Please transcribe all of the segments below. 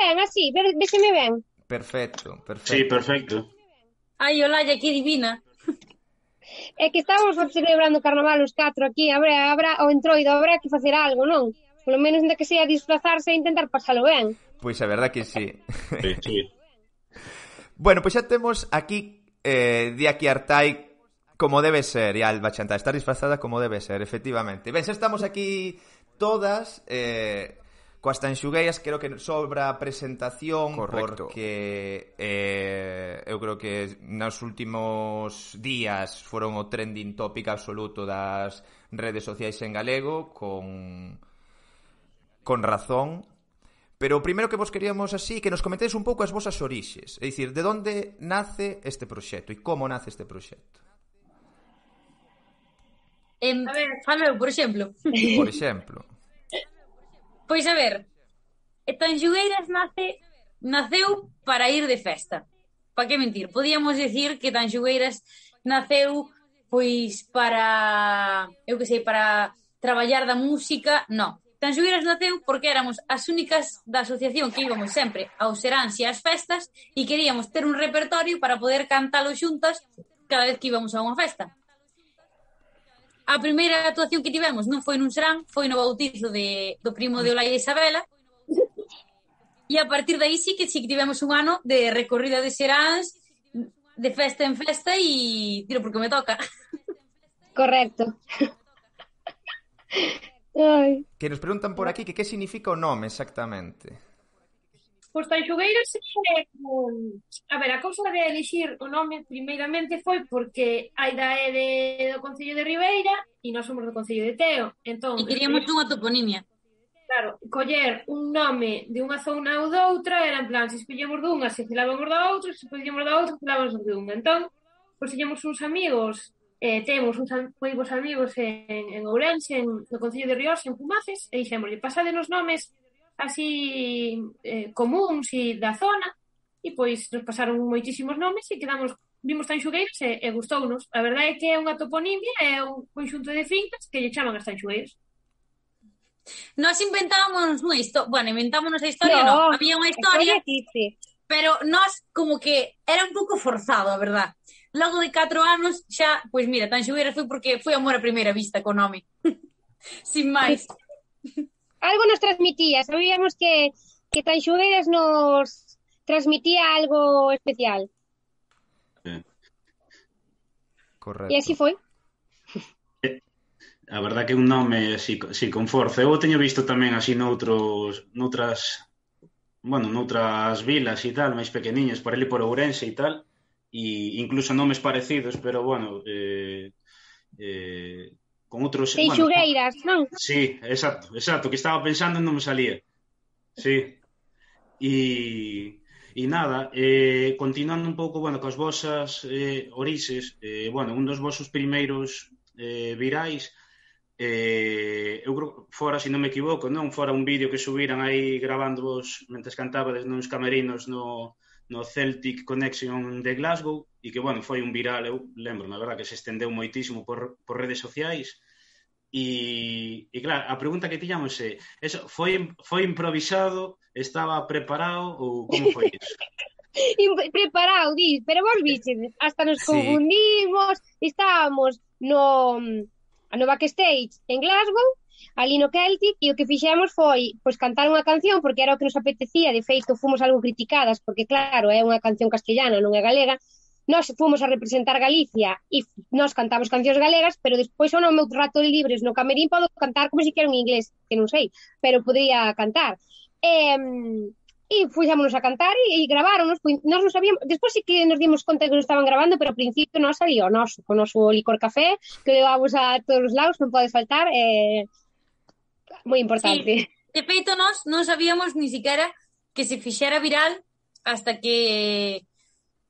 ben, así, véxeme ben. Perfecto, Sí, perfecto. perfecto. Ai, Olalla, que divina. É que estábamos celebrando o carnaval os 4 aquí, habrá o entroido, habrá que facer algo, non? Polo menos ainda que sea disfrazarse e intentar pasalo ben. Pois a verdad que sí. Sí, sí. Bueno, pois xa temos aquí di aquí Artai como debe ser, e Alba Chantal, estar disfrazada como debe ser, efectivamente. Ben, xa estamos aquí todas coas tanxugueiras, creo que sobra a presentación. Correcto. Porque eu creo que nos últimos días foron o trending topic absoluto das redes sociais en galego, con razón. Pero o primeiro que vos queríamos así, que nos comentedes un pouco as vosas orixes, é dicir, de onde nace este proxecto e como nace este proxecto. A ver, falo eu, por exemplo. Por exemplo. Pois a ver, Tanxugueiras naceu para ir de festa. Pa que mentir? Podíamos decir que Tanxugueiras naceu pois para, eu que sei, para traballar da música. No. Tanxugueiras naceu porque éramos as únicas da asociación que íbamos sempre aos seráns e ás festas e queríamos ter un repertorio para poder cantalo xuntas cada vez que íbamos a unha festa. A primeira actuación que tivemos non foi nun serán, foi no bautizo do primo de Olaia e Isabela. E a partir de aí sí que tivemos un ano de recorrida de seráns, de festa en festa e tiro porque me toca. Correcto. Ai. Que nos preguntan por aquí que significa o nome exactamente. Pois Tanxugueiras a ver, a cousa de elixir o nome primeiramente foi porque a ida é do Concello de Ribeira e nós somos do Concello de Teo. Entón, E queríamos unha toponimia. claro, coller un nome de unha zona ou doutra era en plan, se escollemos dunha, se celábamos da outra, se escollemos da outra, celábamos dunha. Entón, pois tiñamos uns amigos, temos uns moivos amigos en Ourense, no Concello de Riós, en Pumaces, e dixémoslle, pasadenos nomes así comuns e da zona, e pois nos pasaron moitísimos nomes e vimos Tanxugueiras e gustounos. A verdade é que é unha toponimia, é un conxunto de fincas que lle chaman as Tanxugueiras. Nós inventábamos unha historia, inventámonos a historia, no, había unha historia, pero nós como que era un pouco forzado, a verdad. Logo de 4 anos xa, pois mira, Tanxugueiras foi porque foi amor a primeira vista co nome. Sin máis. Algo nos transmitía, sabíamos que Tanxugueiras nos transmitía algo especial. Correcto. E así foi. A verdad que un nome así con forza. Eu teño visto tamén así noutras vilas e tal, máis pequeniñas, por ali por Ourense e tal, e incluso nomes parecidos, pero con outros... Tanxugueiras, non? Sí, exacto, que estaba pensando e non me salía. Sí. E nada, continuando un pouco, coas vosas orixes, un dos vosos primeiros virais, eu creo, fora, se non me equivoco, non? Fora un vídeo que subiran aí grabándovos mentres cantabades nos camerinos no Celtic Connection de Glasgow, e que, foi un viral, eu lembro, na verdad, que se estendeu moitísimo por redes sociais. E claro, a pregunta que tiñamos é, eso foi improvisado, estaba preparado ou como foi iso? Preparado, pero vos viches, hasta nos confundimos, estábamos no backstage en Glasgow, ali no Celtic, e o que fixemos foi cantar unha canción, porque era o que nos apetecía. De feito, fomos algo criticadas, porque claro, é unha canción castellana, non é galega. Nós fomos a representar Galicia e nós cantamos cancións galegas, pero despois ao meu rato de libres no camerín podo cantar como se quero en inglés, que non sei, pero podría cantar. E fuxámonos a cantar e graváronos, nós non sabíamos, despois sí que nos dimos conta que nos estaban grabando, pero ao principio non sabía o noso, con o noso licor café, que levamos a todos os lados, non pode faltar, moi importante. Sí, de feito nós non sabíamos ni siquiera que se fixera viral hasta que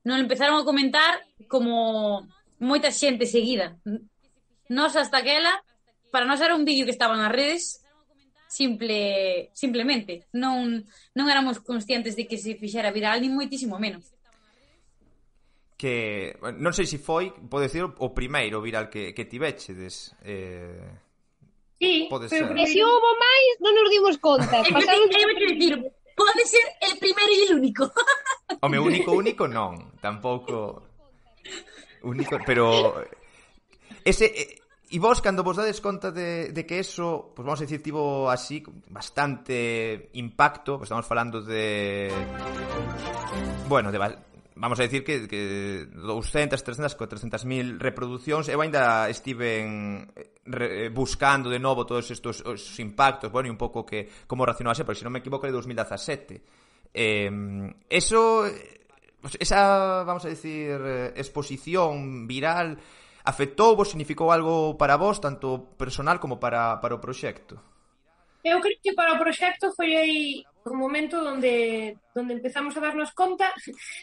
non empezaron a comentar como moita xente seguida. Nós hasta aquela, para nós era un vídeo que estaba nas redes, simplemente non éramos conscientes de que se fixera viral, ni moitísimo menos. Que non sei se foi, pode decir, o primeiro viral que tivechedes. Sí, pode pero ser. E se houbo máis, non nos dimos conta. Pode ser el primeiro foi el único. O meu único non, tampouco único, pero ese e vos cando vos dades conta de que eso, pues vamos a decir, tivo así bastante impacto, pues estamos falando de bueno, vamos a decir que 200, 300, 400.000 reproducións. Eu ainda estiven buscando de novo todos estos os impactos, bueno, e un pouco que como racionarse, porque se non me equivoco é de 2017. Eso, esa, vamos a decir, exposición viral afectou vos, significou algo para vos, tanto personal como para o proxecto? Eu creo que para o proxecto foi aí un momento onde empezamos a darnos conta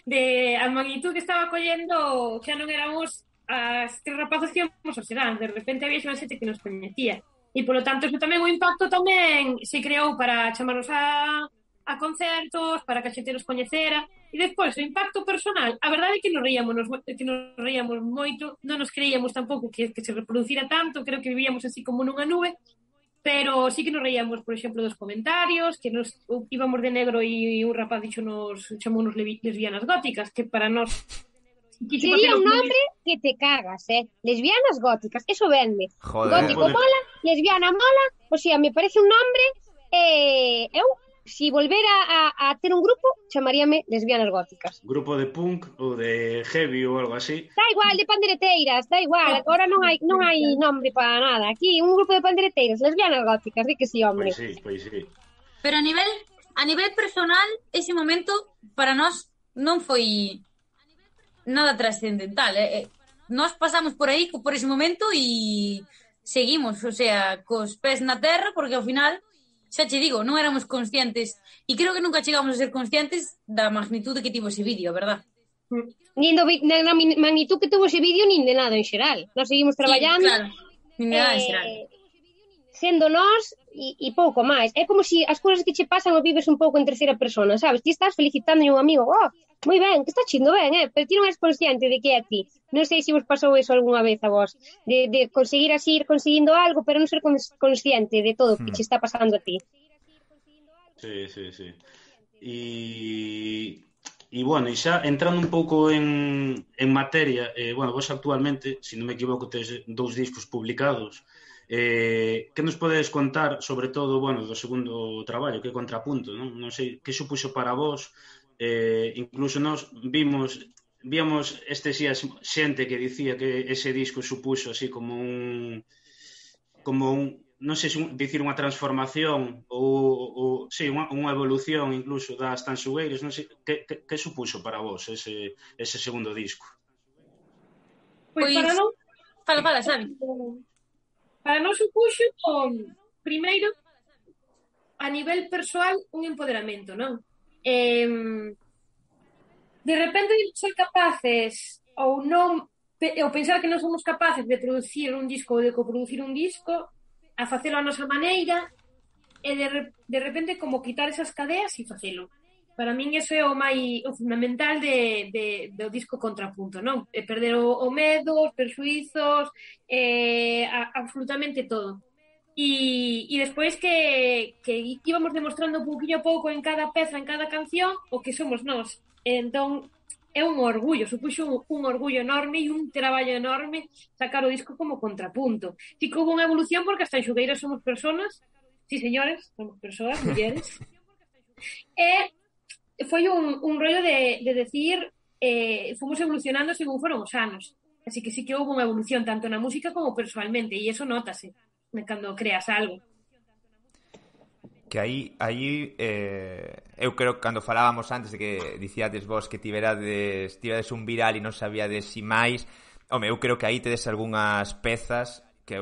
de a magnitud que estaba collendo, xa non éramos as tres rapazas que íbamos ao Serán, de repente había xa xente que nos coñecía. E, polo tanto, eso tamén o impacto tamén se creou para chamarnos a concertos, para que a xente nos coñecera. E despois, o impacto personal, a verdade é que nos reíamos moito, non nos creíamos tampouco que se reproducira tanto, creo que vivíamos así como nunha nube, pero sí que nos reíamos, por exemplo, dos comentarios, que nos íbamos de negro e un rapaz chamounos lesbianas góticas, que para nós... Sería un nombre que te cagas, lesbianas góticas, eso vende. Joder, gótico mola, lesbiana mola, o sea, me parece un nombre, eu, si volvera a ter un grupo, chamaríame lesbianas góticas. Grupo de punk ou de heavy ou algo así. Da igual, de pandereteiras, da igual, agora non hai nombre para nada. Aquí, un grupo de pandereteiras, lesbianas góticas, di que sí, hombre. Pois sí. Pero a nivel personal, ese momento para nós non foi nada trascendental. Nós pasamos por aí por ese momento e seguimos, o sea, cos pés na terra, porque ao final, xa che digo, non éramos conscientes e creo que nunca chegamos a ser conscientes da magnitude que tivo ese vídeo, verdad? Nin na magnitud que tuvo ese vídeo, nin de nada en xeral. Nós seguimos traballando, claro. Nin de nada en xeral. Sendo nós e pouco máis. É como se as cousas que che pasan o vives un pouco en terceira persona, sabes? Ti estás felicitando a un amigo, moi ben, que está chindo ben, pero ti non és consciente de que é a ti. Non sei se vos pasou eso algunha vez a vos, de conseguir así ir conseguindo algo, pero non ser consciente de todo o que che está pasando a ti. Sí. E bueno, e xa entrando un pouco en materia, bueno, vos actualmente, se non me equivoco, tes 2 discos publicados. Que nos podedes contar, sobre todo, bueno, do segundo traballo, que é Contrapunto, non sei, que supuxo para vos? Incluso nós víamos estes días xente que dicía que ese disco supuxo así como un non sei se dicir unha transformación ou sí, unha evolución incluso das Tanxugueiras, non sei, que supuxo para vos ese segundo disco? Pois para non... Fala, Xavi. Para non supuxo, primeiro, a nivel persoal, un empoderamento, non? De repente ser capaces ou pensar que non somos capaces de producir un disco ou de coproducir un disco, a facelo a nosa maneira, e de repente como quitar esas cadeas e facelo. Para min iso é o fundamental do disco Contrapunto, non? Perder o medo, os perxuizos, absolutamente todo. E despois que íbamos demostrando pouquinho a pouco en cada peza, en cada canción, o que somos nós. Entón, é un orgullo, supuxo un orgullo enorme e un traballo enorme sacar o disco como Contrapunto. Si que houve unha evolución porque as Tanxugueiras somos personas, sí señores, somos persoas, mulleres, e foi un rollo de decir fomos evolucionando según foron os anos, así que sí que houve unha evolución tanto na música como persoalmente e eso nótase cando creas algo. Que aí eu creo que cando falábamos antes de que dicíades vos que tivérades un viral e non sabíades si máis, eu creo que aí tedes algunhas pezas que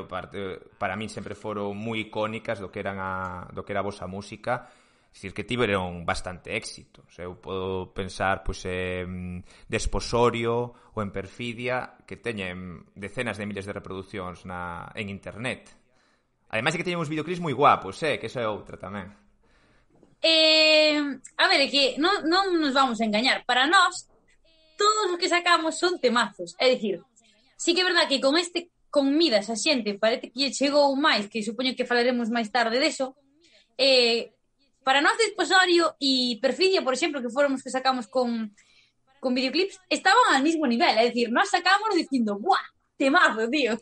para min sempre foron moi icónicas do que era a vosa música. Dicir que tiveron bastante éxito. O sea, eu podo pensar en Desposorio ou en Perfidia, que teñen decenas de miles de reproduccións en internet. Ademais de que teñen uns videoclips moi guapos, que eso é outra tamén. A ver, é que non nos vamos a engañar. Para nós, todos os que sacamos son temazos. É dicir, sí que é verdad que con Midas a xente parece que chegou máis, que supoño que falaremos máis tarde deso, para nós Desposorio e Perfidia, por exemplo, que foron os que sacamos con videoclips, estaban al mismo nivel, é dicir, nós sacámonos dicindo, ¡buah! Temazo, tío.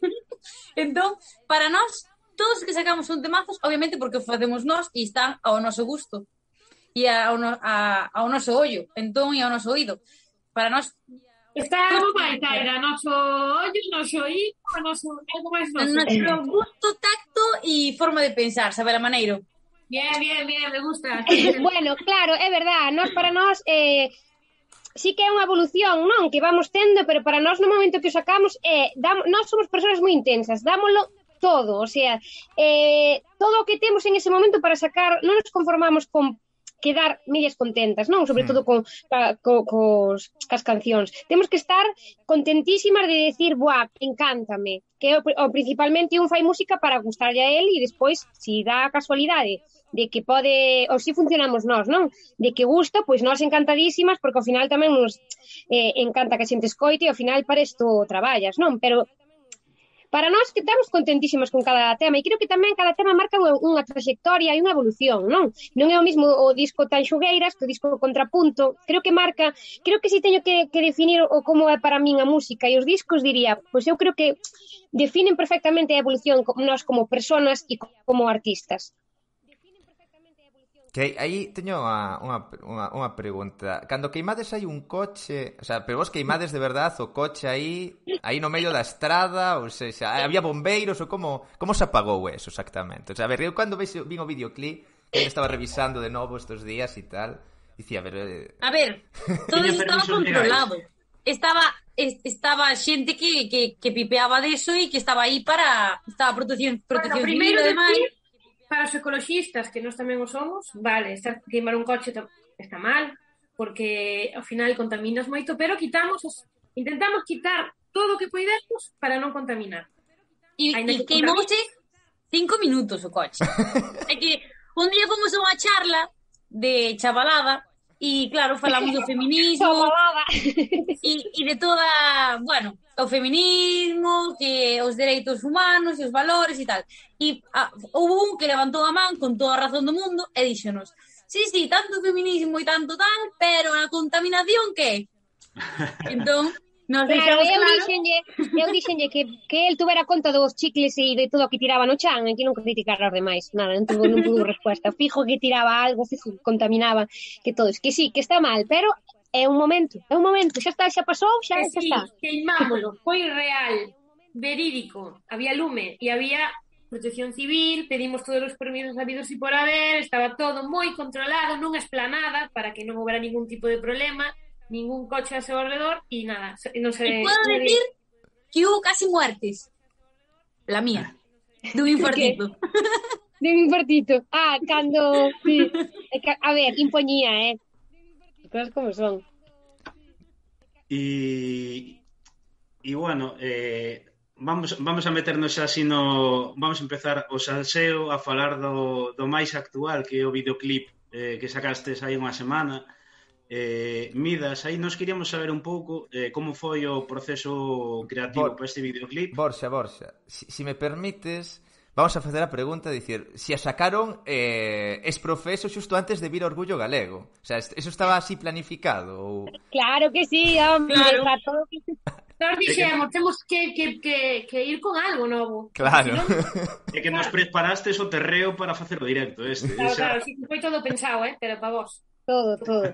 Entón, para nós, todos os que sacamos son temazos, obviamente porque o facemos nós e están ao noso gusto e ao noso ollo, entón, e ao noso oído. Para nós está algo máis, Taira, noso ollo, noso oído, algo máis noso gusto, tacto e forma de pensar, Sabela Maneiro. Bien, me gusta. Bueno, claro, é verdad, para nós sí que é unha evolución, non? Que vamos tendo, pero para nós no momento que o sacamos nós somos persoas moi intensas, dámoslo todo, o sea, todo o que temos en ese momento para sacar, non nos conformamos con quedar medias contentas, non? Sobre todo cas cancións. Temos que estar contentísimas de decir, buah, encántame, que principalmente un fai música para gustarlle a él e despois, si dá a casualidade de que pode, ou si funcionamos nós, non? De que gusta, pois nós encantadísimas, porque ao final tamén nos encanta que a xente escoite e ao final para isto traballas, non? Pero para nós que estamos contentísimas con cada tema e creo que tamén cada tema marca unha trayectoria e unha evolución, non? Non é o mismo o disco Tanxugueiras que o disco Contrapunto, creo que si teño que definir o como é para min a música e os discos diría, pois eu creo que definen perfectamente a evolución nós como personas e como artistas. Que aí teño unha pregunta. Cando queimades hai un coche, o sea, pero vos queimades de verdade o coche aí no medio da estrada, ou seja, había bombeiros ou como se apagou eso exactamente? O sea, a ver, eu cando vin o videoclip, que estaba revisando de novo estes días e tal, dicía, a ver, todo estaba controlado. Estaba xente que pipeaba deso e que estaba aí estaba protección civil, ademais. Para os ecologistas, que nós tamén o somos, vale, queimar un coche está mal, porque ao final contaminas moito, pero intentamos quitar todo o que poidemos para non contaminar. E queimouse 5 minutos o coche. É que un día fomos a unha charla de chavalada e, claro, falamos do feminismo e de toda, bueno, o feminismo, que os dereitos humanos e os valores e tal. E houve un que levantou a man con toda a razón do mundo e díxonos, sí, tanto feminismo e tanto tal, pero a contaminación que? Entón, nos deixamos eu dixenlle que el tuvera conta dos chicles e de todo o que tiraba no chan, e que non criticar aos demais, nada, non tuvo resposta. Fijo que tiraba algo, fijo que contaminaba, que todo, que sí, que está mal, pero é un momento, xa pasou, xa está. Queimámolo, foi real, verídico, había lume e había protección civil, pedimos todos os permisos habidos e por haber, estaba todo moi controlado nunha esplanada para que non houbera ningún tipo de problema, ningún coche a seu alrededor e nada, non sei. E podo decir que hubo casi muertes. La mía, dun infartito. De un infartito. Cando sí. A ver, impoñía, cosas como son. E bueno, vamos a meternos así vamos a empezar o salseo a falar do máis actual, que é o videoclip que sacastes aí unha semana. Midas, aí nos queríamos saber un pouco como foi o proceso creativo para este videoclip. Borxa, si me permites, vamos a facer a pregunta, dicir, si a sacaron exprofeso xusto antes de vir Orgullo Galego. O sea, eso estaba así planificado? Ou... Claro que sí, hombre, claro. Nós dixemos, temos que ir con algo novo. Claro. É que nos preparastes o terreo para facer o directo este. Claro, sí, foi todo pensado, pero para vos. Todo.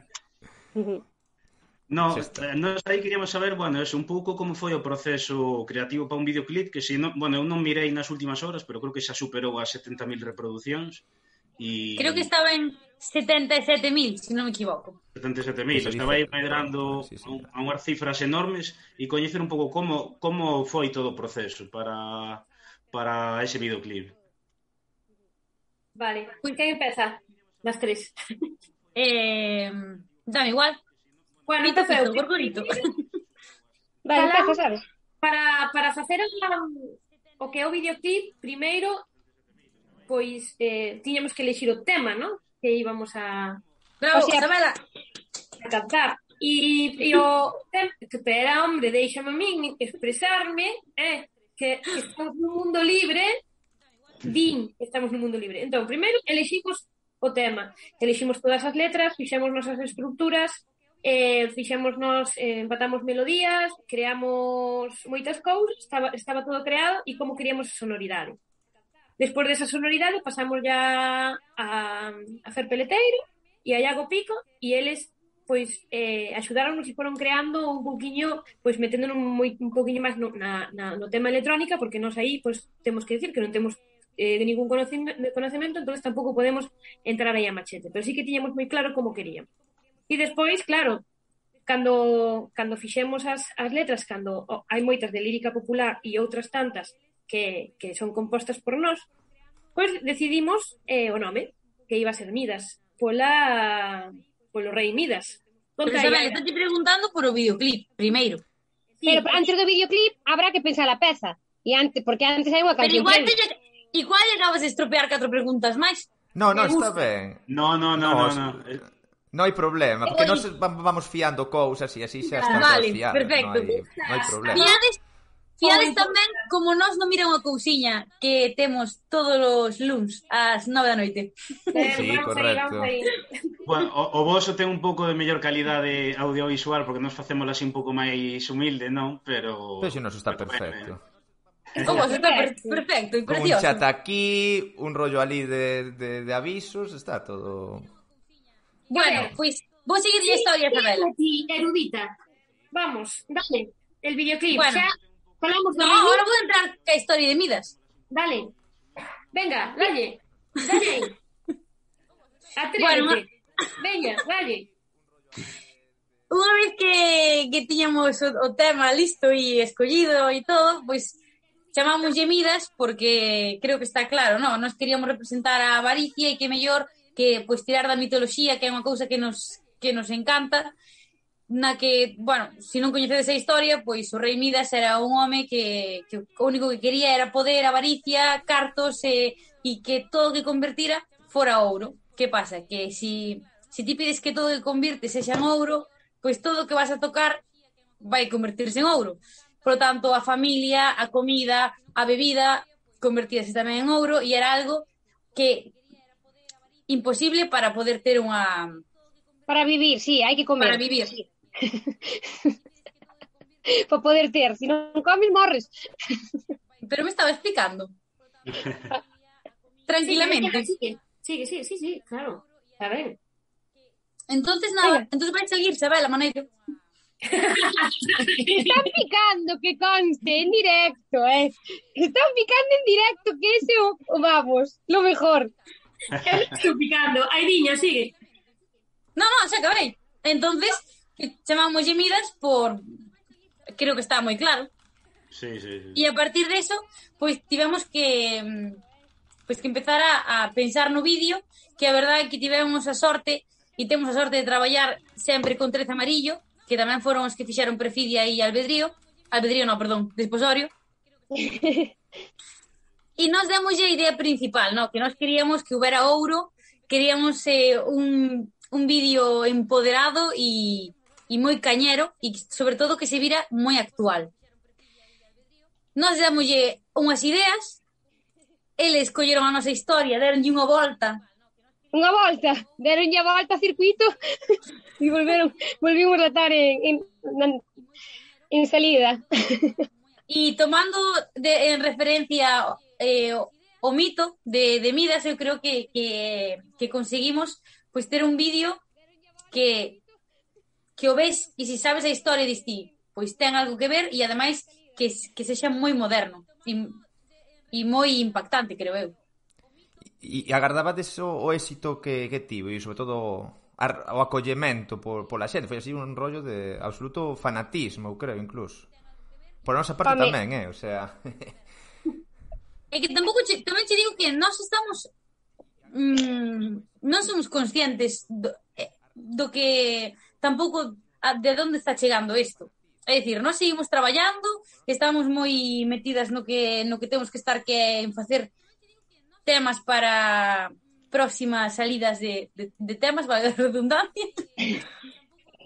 No, nós aí queríamos saber, bueno, un pouco como foi o proceso creativo para un videoclip que eu non mirei nas últimas horas, pero creo que xa superou as 70.000 reproduccións e... Creo que estaba en 77.000, se non me equivoco. 77.000, estaba aí medrando a unhas cifras enormes e coñecer un pouco como foi todo o proceso para ese videoclip. Vale, quen empeza? Las tres. Dame igual. Bueno, empeceu, Gorgorito. Vale, empeza, sabes? Para facer o que é o videoclip, primeiro, pois, tiñamos que elixir o tema, ¿no? Que íbamos a... Bravo, Isabela! A cantar. E o tema, espera, hombre, deixame a min expresarme, que estamos no mundo libre, estamos no mundo libre. Entón, primeiro, eliximos o tema. Eliximos todas as letras, fixemos nosas estructuras, empatamos melodías, creamos moitas cousas, estaba todo creado e como queríamos a sonoridade. Despois desa sonoridade pasamos ya a Fer Peleteiro e a Iago Pico e eles pois axudáronos e foron creando un pouquiño, pois meténdonos un pouquiño máis no tema electrónica, porque nós aí pois temos que decir que non temos de ningún conocemento, entonces tampouco podemos entrar aí a machete, pero sí que tiñamos moi claro como queríamos. E despois, claro, cando fixemos as letras, cando hai moitas de lírica popular e outras tantas que son compostas por nós, pois decidimos o nome, que iba a ser Midas, polo rei Midas. Pero Isabel, estou te preguntando por o videoclip, primeiro. Sí, pero antes do videoclip habrá que pensar a peza. Porque antes hai unha canción. Pero igual acabas de estropear 4 preguntas máis. No, está ben. No. Non hai problema, porque nós vamos fiando cousas e así xa están todas fiadas. Perfecto. Non hai problema. Fiades tamén como nós non mira unha cousiña que temos todos os luns ás 9 da noite. Sí, correcto. Bueno, o voso ten un pouco de mellor calidade audiovisual porque nós facemos así un pouco máis humilde, non? Pero si nos está perfecto. O voso está perfecto e precioso. Un chat aquí, un rollo ali de avisos, está todo... Bueno, pois vou seguir a historia, Isabela. Erudita. Vamos, dale. El videoclip, bueno. xa falamos do ahora vou entrar ca historia de Midas. Dale. Venga, dalle aí. Atrévete. Bueno, Veña, dalle. Unha vez que tiñamos o tema listo e escollido e todo, pois chamámoslle Midas porque creo que está claro, non? Nos queríamos representar a avaricia e que mellor que pois tirar da mitoloxía, que é unha cousa que nos encanta, na que, bueno, se non coñecedes a historia, pois o rei Midas era un home que o único que quería era poder, avaricia, cartos e que todo o que convertira fora ouro. Que pasa? Que si ti pides que todo o que convirte sexa en ouro, pois todo o que vas a tocar vai convertirse en ouro. Por lo tanto, a familia, a comida, a bebida convertíase tamén en ouro e era algo que imposible para poder ter unha... Para vivir, sí, hai que comer. Para vivir. Sí. Para poder ter, se non comes morres. Pero me estaba explicando. Tranquilamente. Sí, claro. Está ben. Entonces nada, entonces vai salir, Isabela, maneiro. Están picando, que conste, en directo, Están picando en directo, que ese vamos, lo mejor. Estou picando. Ai, niña, sigue. No, xa acabei. Entonces, chamámoslle Midas por... Creo que está moi claro. Sí. E a partir de eso, pois tivemos que empezar a pensar no vídeo, que a verdade é que tivemos a sorte e temos a sorte de traballar sempre con 13 amarillo, que tamén foron os que fixeron Perfidia e Albedrío, Desposorio. E nos demos a idea principal, no? Que nós queríamos que houbera ouro, queríamos un vídeo empoderado e moi cañero e sobre todo que se vira moi actual. Nos damoslle unhas ideas, eles colleron a nosa historia, deronlle unha volta, deronlle a volta ao circuito e volvimos a estar en salida. E tomando en referencia o mito de Midas, eu creo que conseguimos pois ter un vídeo que o ves e se sabes a historia diste, pois ten algo que ver e ademais que sexa moi moderno e moi impactante, creo eu. E agardabades o éxito que tivo e sobre todo o acollemento pola xente? Foi así un rollo de absoluto fanatismo, eu creo, incluso. Por a nosa parte tamén, o sea... É que tamén che digo que nós estamos... non somos conscientes do que tampouco de onde está chegando isto. É dicir, nós seguimos traballando, estamos moi metidas no que temos que estar, que en facer temas para próximas salidas de temas, valga a redundancia.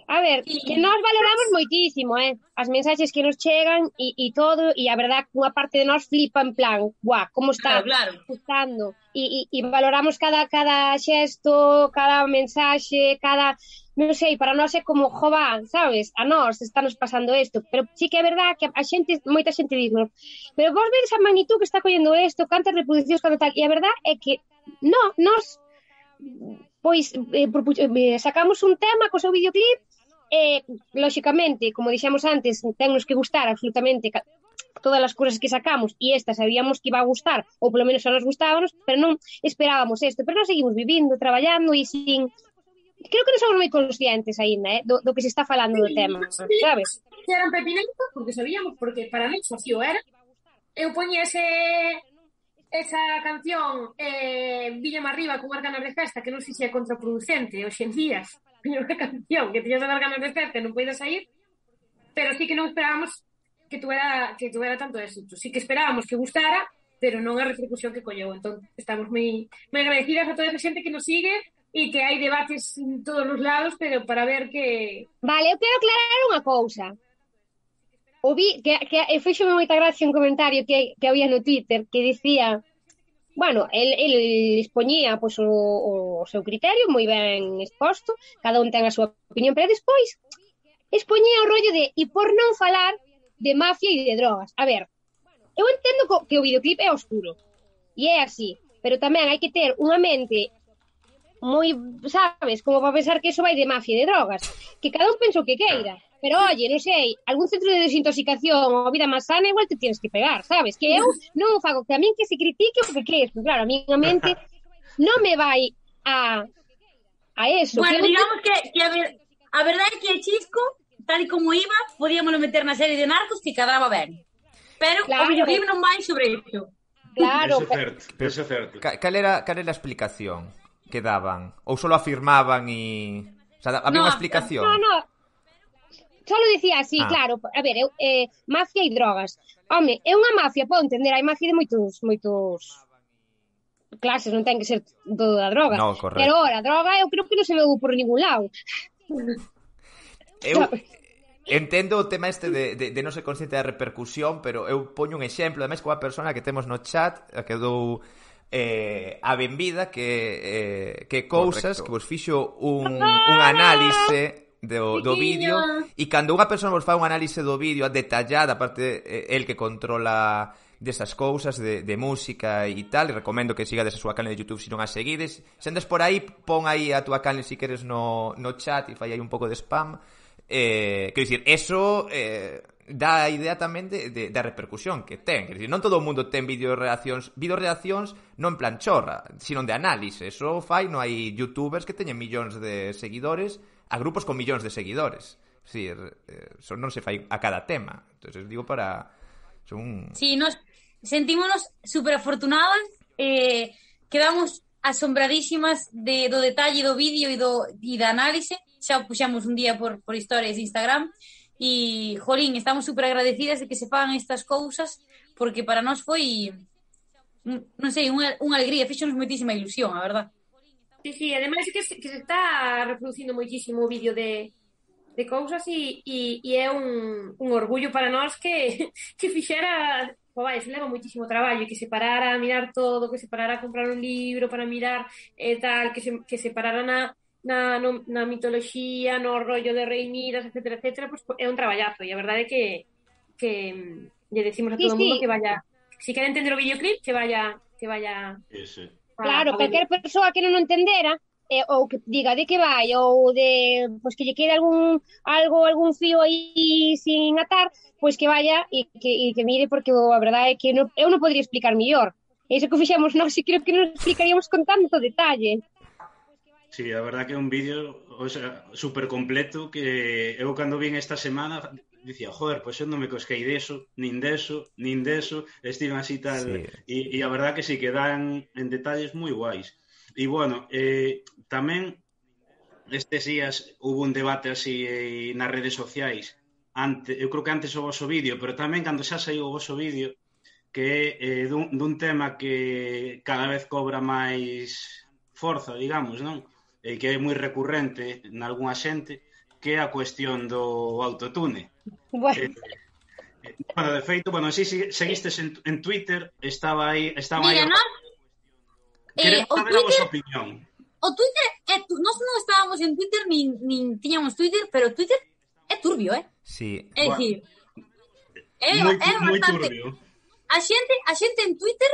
A ver, que nós valoramos moitísimo, as mensaxes que nos chegan e todo, e a verdad que unha parte de nós flipa en plan, guau, como está Claro. gustando, e valoramos cada xesto, cada mensaxe, cada, non sei, para nós é como, jova, sabes, a nós estános pasando isto, pero sí que é verdad que a xente, moita xente diz, pero vos vedes a magnitud que está collendo isto, cantas reproduccións, canto tal, e a verdad é que nós pois sacamos un tema co seu videoclip. Lóxicamente, como dixemos antes, tennos que gustar absolutamente todas as cousas que sacamos e esta sabíamos que iba a gustar, ou polo menos a nos gustábamos, pero non esperábamos isto, pero nós seguimos vivindo, traballando e sin... Creo que non somos moi conscientes aínda, do que se está falando do tema, sabes? Que eran pepineitos, porque sabíamos, porque para mí socio era. Eu poñía esa canción Víllame Arriba con as ganas de festa, que non sei se é contraproducente hoxe en día, pero unha canción que tiñas as ganas de festa e non podes sair, pero sí que non esperábamos que tuvera tanto éxito. Sí que esperábamos que gustara, pero non a repercusión que colleu. Entón, estamos moi agradecidas a toda esa xente que nos sigue e que hai debates en todos os lados, pero para ver que... Vale, eu quero aclarar unha cousa. O vi, que fixome moita gracia un comentario que había no Twitter que dicía, bueno, el expoñía pues, o seu criterio moi ben exposto, cada un ten a súa opinión, pero despois expoñía o rollo de e por non falar de mafia e de drogas. A ver, eu entendo que o videoclip é oscuro e é así, pero tamén hai que ter unha mente moi, sabes, como para pensar que eso vai de mafia e de drogas, que cada un pensa o que queira. Pero, oye, non sei, algún centro de desintoxicación ou vida máis sana igual te tienes que pegar, sabes? Que eu non fago que a min que se critique o que queres, pero claro, a min a mente non me vai a eso. Bueno, digamos que a verdade é que el Chisco, tal e como iba, podíamoslo meter na serie de Narcos que cadraba ben. Pero o videoclip non vai sobre isto. Claro. Eso é certo. Cal era a explicación que daban? Ou solo afirmaban e... O sea, había unha explicación? No. Solo dicía así, claro. A ver, mafia e drogas. Home, é unha mafia, podo entender, hai mafia de moitos clases, non ten que ser todo da droga. No, correcto. Pero a droga eu creo que non se veu por ningún lado. Eu entendo o tema este de non ser consciente da repercusión, pero eu poño un exemplo, ademais, coa persona que temos no chat, que dou a benvida, que cousas, que vos fixo un análise do vídeo, e cando unha persona vos fai un análise do vídeo detallada, aparte el que controla desas cousas de música e tal, e recomendo que sigades a súa canal de YouTube se non a seguides. Se andes por aí, pon aí a túa canal se queres no chat e fai aí un pouco de spam. Quero dicir, eso dá a idea tamén da repercusión que ten. Quero dicir, non todo o mundo ten videoreaccións non en plan chorra, sino de análise. Eso fai, non hai youtubers que teñen millóns de seguidores a grupos con millóns de seguidores. Es decir, eso non se fai a cada tema. Entonces, digo para... Sí, nos sentímonos super afortunadas, quedamos asombradísimas do detalle do vídeo e da análise. Xa puxamos un día por historias de Instagram e, jolín, estamos super agradecidas de que se fagan estas cousas, porque para nós foi, non sei, unha alegría, fixonos moitísima ilusión, a verdad. Sí, ademais que se está reproducindo moitísimo o vídeo de cousas e é un orgullo para nós que fixera, vai, se leva moitísimo traballo, que se parara a mirar todo, que se parara a comprar un libro para mirar tal, que se parara na mitoloxía, no rollo de Rei Midas, etcétera, pues é un traballazo, e a verdade é que lle decimos a todo o mundo que vaya, se quere entender o videoclip, que vaya Ese. Claro, calquer persoa que non o entendera, ou que diga de que vai, ou de pues, que lle quede algún fío aí sin atar, pois que vaya e que mire, porque a verdade é que eu non podría explicar mellor. Iso que fixemos nós, e creo que non explicaríamos con tanto detalle. Sí, a verdade que é un vídeo, o sea, super completo, que eu cando vin esta semana dicía, joder, pois eu non me cosquei nin deso, estiven así tal, e a verdade que sí, que dan en detalles moi guais. E bueno, tamén estes días hubo un debate así nas redes sociais, eu creo que antes o voso vídeo, pero tamén cando xa saiu o voso vídeo, que é dun tema que cada vez cobra máis forza, digamos, non? Que é moi recurrente nalgúna xente, que é a cuestión do autotune. Bueno, Bueno, de feito, bueno, si seguistes en Twitter, estaban aí... Mira, Queremos o saber a vosa Twitter- opinión. O Twitter nós non estábamos en Twitter nin tiñamos Twitter, pero Twitter é turbio, Sí. É Bueno, dicir, é moi bastante... turbio. A xente en Twitter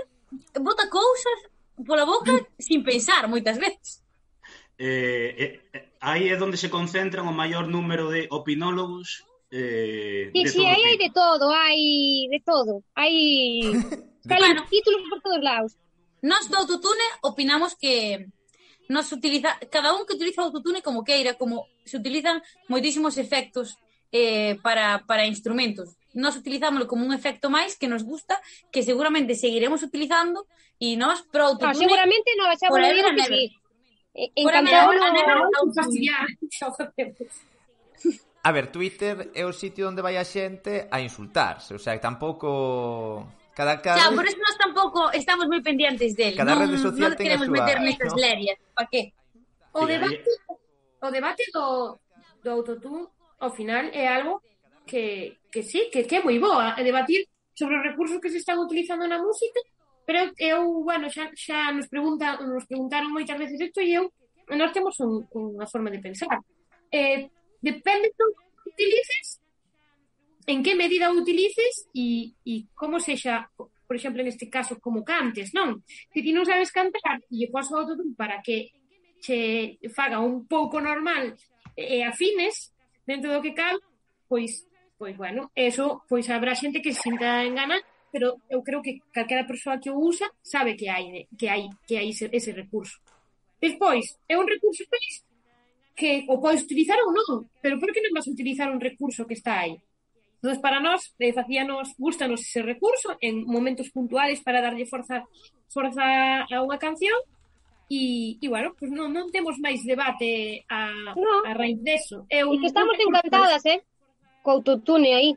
bota cousas pola boca sin pensar moitas veces. Aí é onde se concentran o maior número de opinólogos sí, de sí, todo aí hai tipo. de todo, hai de todo. Hai salen Bueno. títulos por todos lados. Nós do autotune opinamos que cada un que utiliza o autotune como queira, como se utilizan moitísimos efectos para instrumentos. Nós utilizámoslo como un efecto máis que nos gusta, que seguramente seguiremos utilizando, e nós pro autotune... Seguramente no, xa vos Forever digo and que ever. sí. Forever Encantado and ever. A ver, Twitter é o sitio onde vai a xente a insultarse, o sea, que tampouco... Cada Xa, por eso nós tampouco estamos moi pendientes del. Cada rede social non ten a queremos súa, meter nestas ¿no? lerias. Pa qué? O debate do autotune, ao final, é algo que sí, que é moi boa, é debatir sobre os recursos que se están utilizando na música, pero bueno, xa nos preguntaron moitas veces isto e nós temos unha forma de pensar. Depende do que utilices, en que medida o utilices e como sexa, por exemplo, neste caso, como cantes, non? Se ti non sabes cantar e lle pos o autotune para que che faga un pouco normal e afines dentro do que cal, pois bueno, eso, pois habrá xente que se sinta engana, pero eu creo que calquera persoa que o usa sabe que hai ese recurso. Despois, é un recurso que o podes utilizar ou non, pero por que non vas a utilizar un recurso que está aí? Entón, para nós, gustanos ese recurso en momentos puntuales para darlle forza a unha canción e bueno, pues non temos máis debate a raíz deso. E que estamos encantadas, co autotune aí,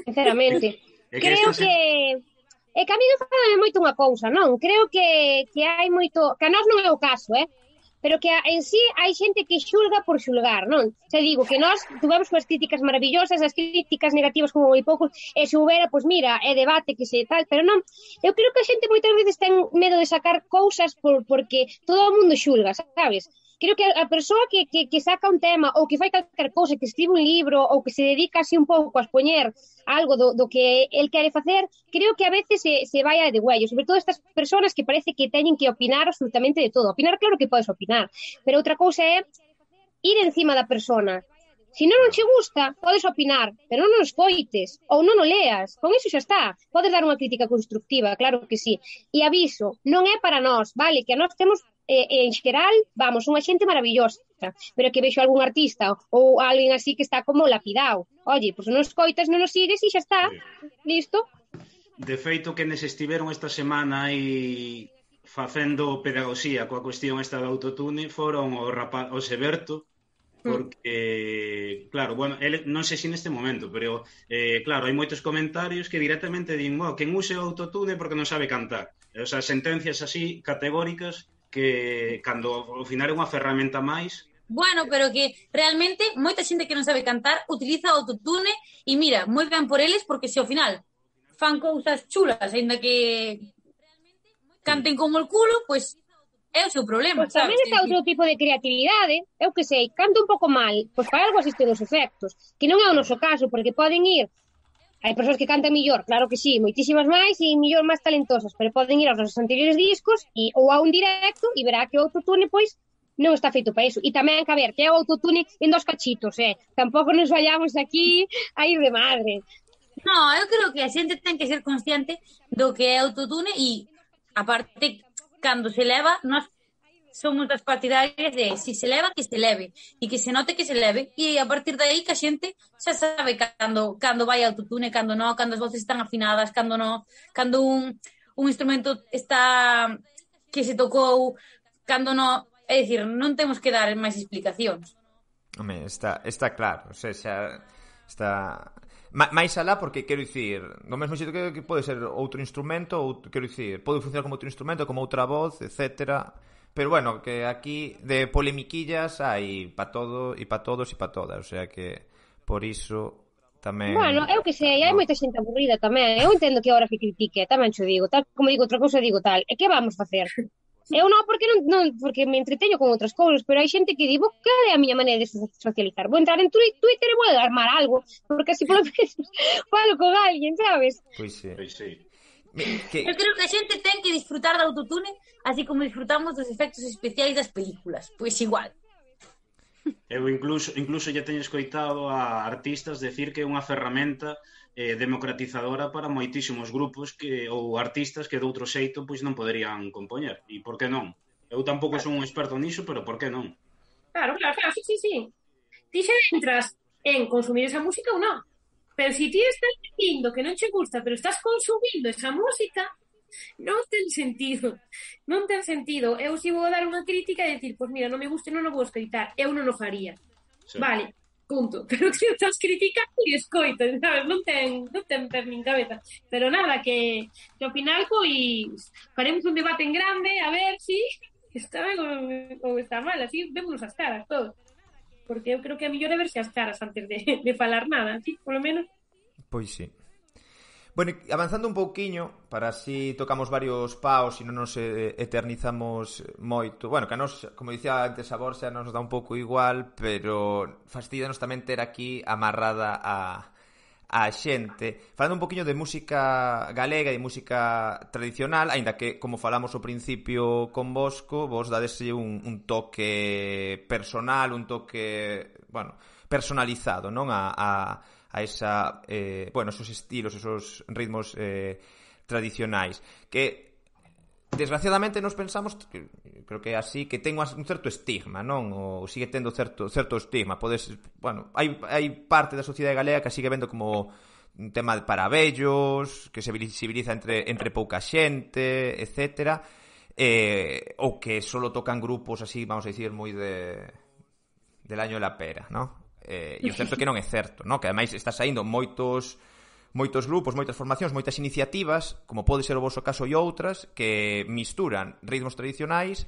sinceramente. Creo que a mí me fala moito unha cousa, non? Creo que hai moito, que a nós non é o caso, pero que en sí hai xente que xulga por xulgar, non? Xa digo que nós tuvemos as críticas maravillosas, as críticas negativas como moi poucos, e se houbera, pois mira, é debate que se tal, pero non, eu creo que a xente moitas veces ten medo de sacar cousas porque todo o mundo xulga, sabes? Creo que a persoa que saca un tema ou que fai calquer cousa, que escribe un libro ou que se dedica así un pouco a expoñer algo do que el quere facer, creo que a veces se vai a de huello, sobre todo estas persoas que parece que teñen que opinar absolutamente de todo. Opinar, claro que podes opinar, pero outra cousa é ir encima da persona. Se non che gusta, podes opinar, pero non o escoites ou non o leas, con iso xa está. Podes dar unha crítica constructiva, claro que sí. E aviso, non é para nós, vale? Que a nós temos en xeral, vamos, unha xente maravillosa, pero que vexo algún artista ou alguén así que está como lapidado. Oye, pois non escoitas, non os sigues e xa está. Listo? De feito, que nes estiveron esta semana aí facendo pedagogía coa cuestión esta do autotune foron o Seberto, porque, claro, bueno, ele non sei se neste momento, pero, claro, hai moitos comentarios que directamente din, quen use o autotune porque non sabe cantar. O sea, sentencias así categóricas que, cando ao final é unha ferramenta máis. Bueno, pero que realmente moita xente que non sabe cantar utiliza o autotune e mira, moi ben por eles, porque se ao final fan cousas chulas, ainda que canten como el culo, pois é o seu problema, Pois tamén está outro tipo de creatividade, eu que sei, canto un pouco mal, pois para algo asisten os efectos, que non é o noso caso, porque poden ir, hai persoas que cantan millor, claro que sí, moitísimas máis e millor máis talentosas, pero poden ir aos nosos anteriores discos ou a un directo e verá que o autotune, pois, non está feito para iso. E tamén, que a ver, que é o autotune en dos cachitos, tampouco nos vayamos aquí a ir de madre. No, eu creo que a xente ten que ser consciente do que é autotune e, aparte, cando se leva, nós somos das partidarias de si se leva, que se leve e que se note que se leve e a partir de aí que a xente xa sabe cando vai autotune, cando non, cando as voces están afinadas, cando non, cando un instrumento está que se tocou, cando non, é dicir, non temos que dar máis explicacións. Home, está claro, o sea, xa está máis alá, porque quero dicir, no mesmo xeito que pode ser outro instrumento, ou quero dicir, pode funcionar como outro instrumento, como outra voz, etcétera. pero bueno, que aquí de polemiquillas hai pa todo e pa todos e pa todas, o sea que por iso tamén... Bueno, eu que sei, hai moita xente aburrida tamén. Eu entendo que ahora que critique, tamén xo digo, tal como digo outra cousa, digo tal. E que vamos facer? Eu non, porque porque me entreteño con outras cousas, pero hai xente que digo que é a miña maneira de socializar. Vou entrar en Twitter e vou armar algo, porque así polo menos falo con alguén, sabes? Pois sí. Pois sí. Eu creo que a xente ten que disfrutar do autotune así como disfrutamos dos efectos especiais das películas. Pois igual. Eu incluso ya teño escoitado a artistas decir que é unha ferramenta democratizadora para moitísimos grupos ou artistas que de outro xeito pois non poderían compoñer. E por que non? Eu tampouco son un experto niso, pero por que non? Claro, sí. Ti xa entras en consumir esa música ou non. Pero si ti estás dicindo que non che gusta, pero estás consumindo esa música, non ten sentido. Non ten sentido. Eu si vou dar unha crítica e decir, pois mira, non me gusta, non o vou escoitar. Eu non o faría. Sí. Vale, punto. Pero que estás criticando e escoito, sabes? Non ten per nin cabeza. Pero nada, que ao final, pois, faremos un debate en grande, a ver si está ben ou está mal, así vémonos as caras todos. Porque eu creo que a mellor é verse as caras antes de falar nada, así, polo menos. Pois sí. Bueno, avanzando un pouquiño, para así tocamos varios paos e non nos eternizamos moito. Bueno, que a nos, como dicía antes a Borxa, nos dá un pouco igual, pero fastidianos tamén ter aquí amarrada a xente. Falando un poquinho de música galega e música tradicional, aínda que, como falamos ao principio con Bosco, vos dadese un toque personal, un toque, bueno, personalizado, non? A esa, bueno, esos estilos, esos ritmos tradicionais que desgraciadamente nos pensamos, creo que é así, que ten un certo estigma, non? Ou sigue tendo certo estigma. Bueno, hai parte da sociedade galega que sigue vendo como un tema para vellos, que se visibiliza entre pouca xente, etcétera, ou que solo tocan grupos así, vamos a dicir, moi del año de la pera, non? E o certo é que non é certo, no? Que ademais está saindo moitos grupos, moitas formacións, moitas iniciativas, como pode ser o vosso caso e outras, que misturan ritmos tradicionais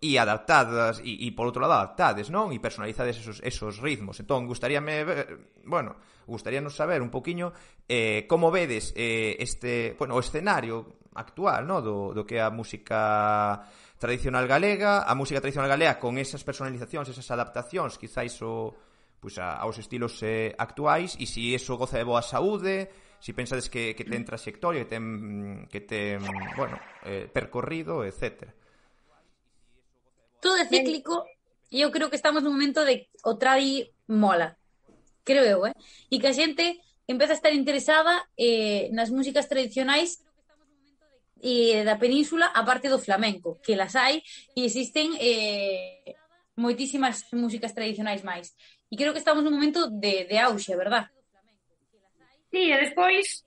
e adaptadas, e por outro lado adaptades, non? E personalizades esos ritmos. Entón, gustaríanos saber un poquiño como vedes o escenario actual, no? Do que é a música tradicional galega, con esas personalizacións, esas adaptacións, quizáis aos estilos actuais, e se iso goza de boa saúde, se pensades que ten trayectoria, que ten percorrido, etcétera. Todo é cíclico e eu creo que estamos nun momento de o tradi mola, creo eu, e que a xente empeza a estar interesada nas músicas tradicionais da península, a parte do flamenco, que las hai e existen moitísimas músicas tradicionais máis. E creo que estamos nun momento de auxe, verdad? Sí, e despois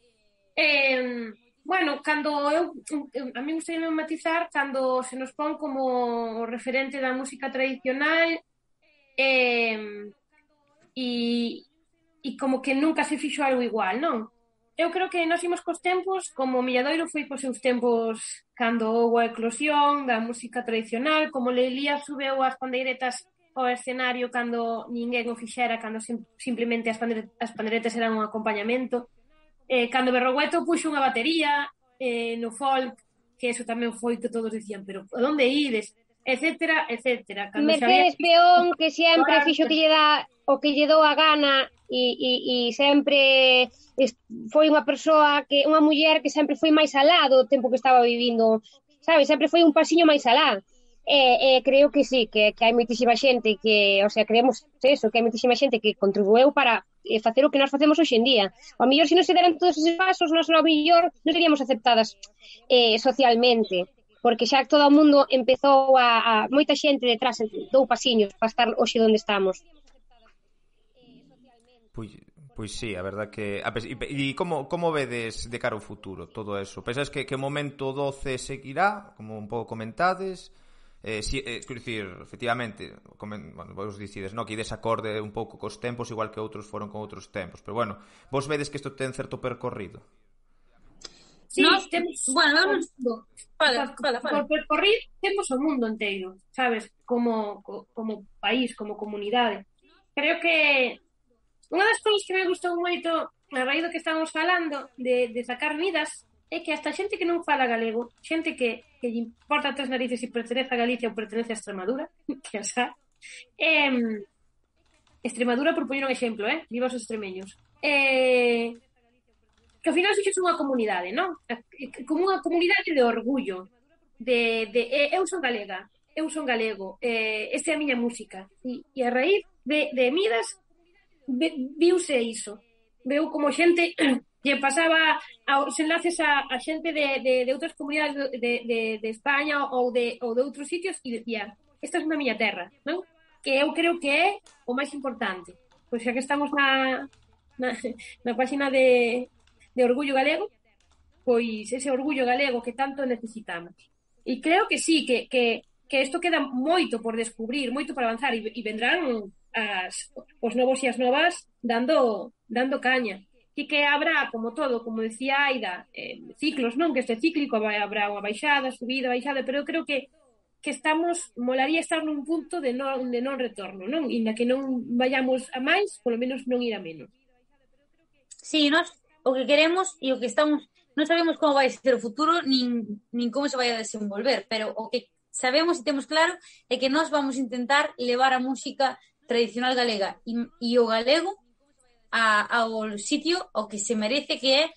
cando a mí gustaría matizar cando se nos pon como referente da música tradicional e como que nunca se fixo algo igual, non? Eu creo que nós imos cos tempos, como Milladoiro foi cos seus tempos cando houve a eclosión da música tradicional, como Leilía subeu as pandeiretas ao escenario cando ninguén o fixera, cando simplemente as pandeiretas eran un acompañamento, cando Berrogueto puxo unha batería no folk, que eso tamén foi que todos decían, pero a onde ides? Etcétera. Mercedes Peón, que sempre fixo que lle dá o que lle dou a gana e sempre foi unha persoa, unha muller que sempre foi máis alá do tempo que estaba vivindo, sabes? Sempre foi un pasiño máis alá. Creo que sí, que hai moitísima xente que, o sea, creemos eso, que hai moitísima xente que contribueu para facer o que nós facemos hoxe en día. O mellor, se non se deran todos esos pasos, nós ao mellor non seríamos aceptadas socialmente, porque xa todo o mundo empezou a moita xente detrás dou pasiños para estar hoxe onde estamos. Pois sí, a verdad que... E como vedes de cara ao futuro todo eso? Pensas que o momento 12 seguirá, como un pouco comentades? Quero dicir, efectivamente, vos dicides, no, que ides acorde un pouco cos tempos, igual que outros foron con outros tempos, pero bueno, vos vedes que isto ten certo percorrido? Sí, Nós, temos bueno, o eu non... mundo. Fala. Por percorrer temos o mundo inteiro, sabes? Como país, como comunidade. Creo que unha das cousas que me gustou moito a raíz do que estamos falando de sacar vidas é que hasta xente que non fala galego, xente que lle importa tres narices se pertenece a Galicia ou pertenece a Extremadura, que xa, Extremadura por poñer un exemplo, viva os extremeños. Que ao final fixes unha comunidade, non? Como unha comunidade de orgullo, eu son galega, eu son galego, esta é a miña música. E a raíz de Midas viuse iso. Veu como xente lle pasaba aos enlaces a xente de outras comunidades de España ou de outros sitios e decía, esta é a miña terra, non? Que eu creo que é o máis importante. Pois xa que estamos na página de Orgullo Galego, pois ese orgullo galego que tanto necesitamos. E creo que sí, que isto queda moito por descubrir, moito por avanzar e vendrán os novos e as novas dando caña. E que habrá, como todo, como decía Aida, ciclos, non? Que este cíclico habrá unha baixada, subida, baixada, pero eu creo que molaría estar nun punto de non retorno, non? E na que non vayamos a máis, polo menos non ir a menos. Sí, nós o que queremos e o que estamos... Non sabemos como vai ser o futuro nin como se vai a desenvolver, pero o que sabemos e temos claro é que nós vamos intentar levar a música tradicional galega e o galego ao sitio ao que se merece, que é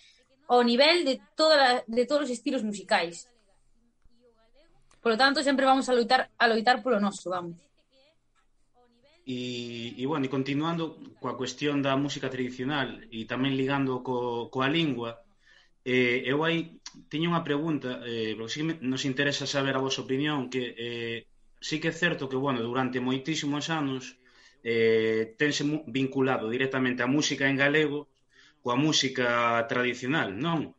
ao nivel de todos os estilos musicais. Por lo tanto, sempre vamos a loitar polo noso, vamos. E bueno, e continuando coa cuestión da música tradicional e tamén ligando coa lingua, eu aí teño unha pregunta, porque sí nos interesa saber a vosa opinión, que sí que é certo que, bueno, durante moitísimos anos tense vinculado directamente a música en galego coa música tradicional, non?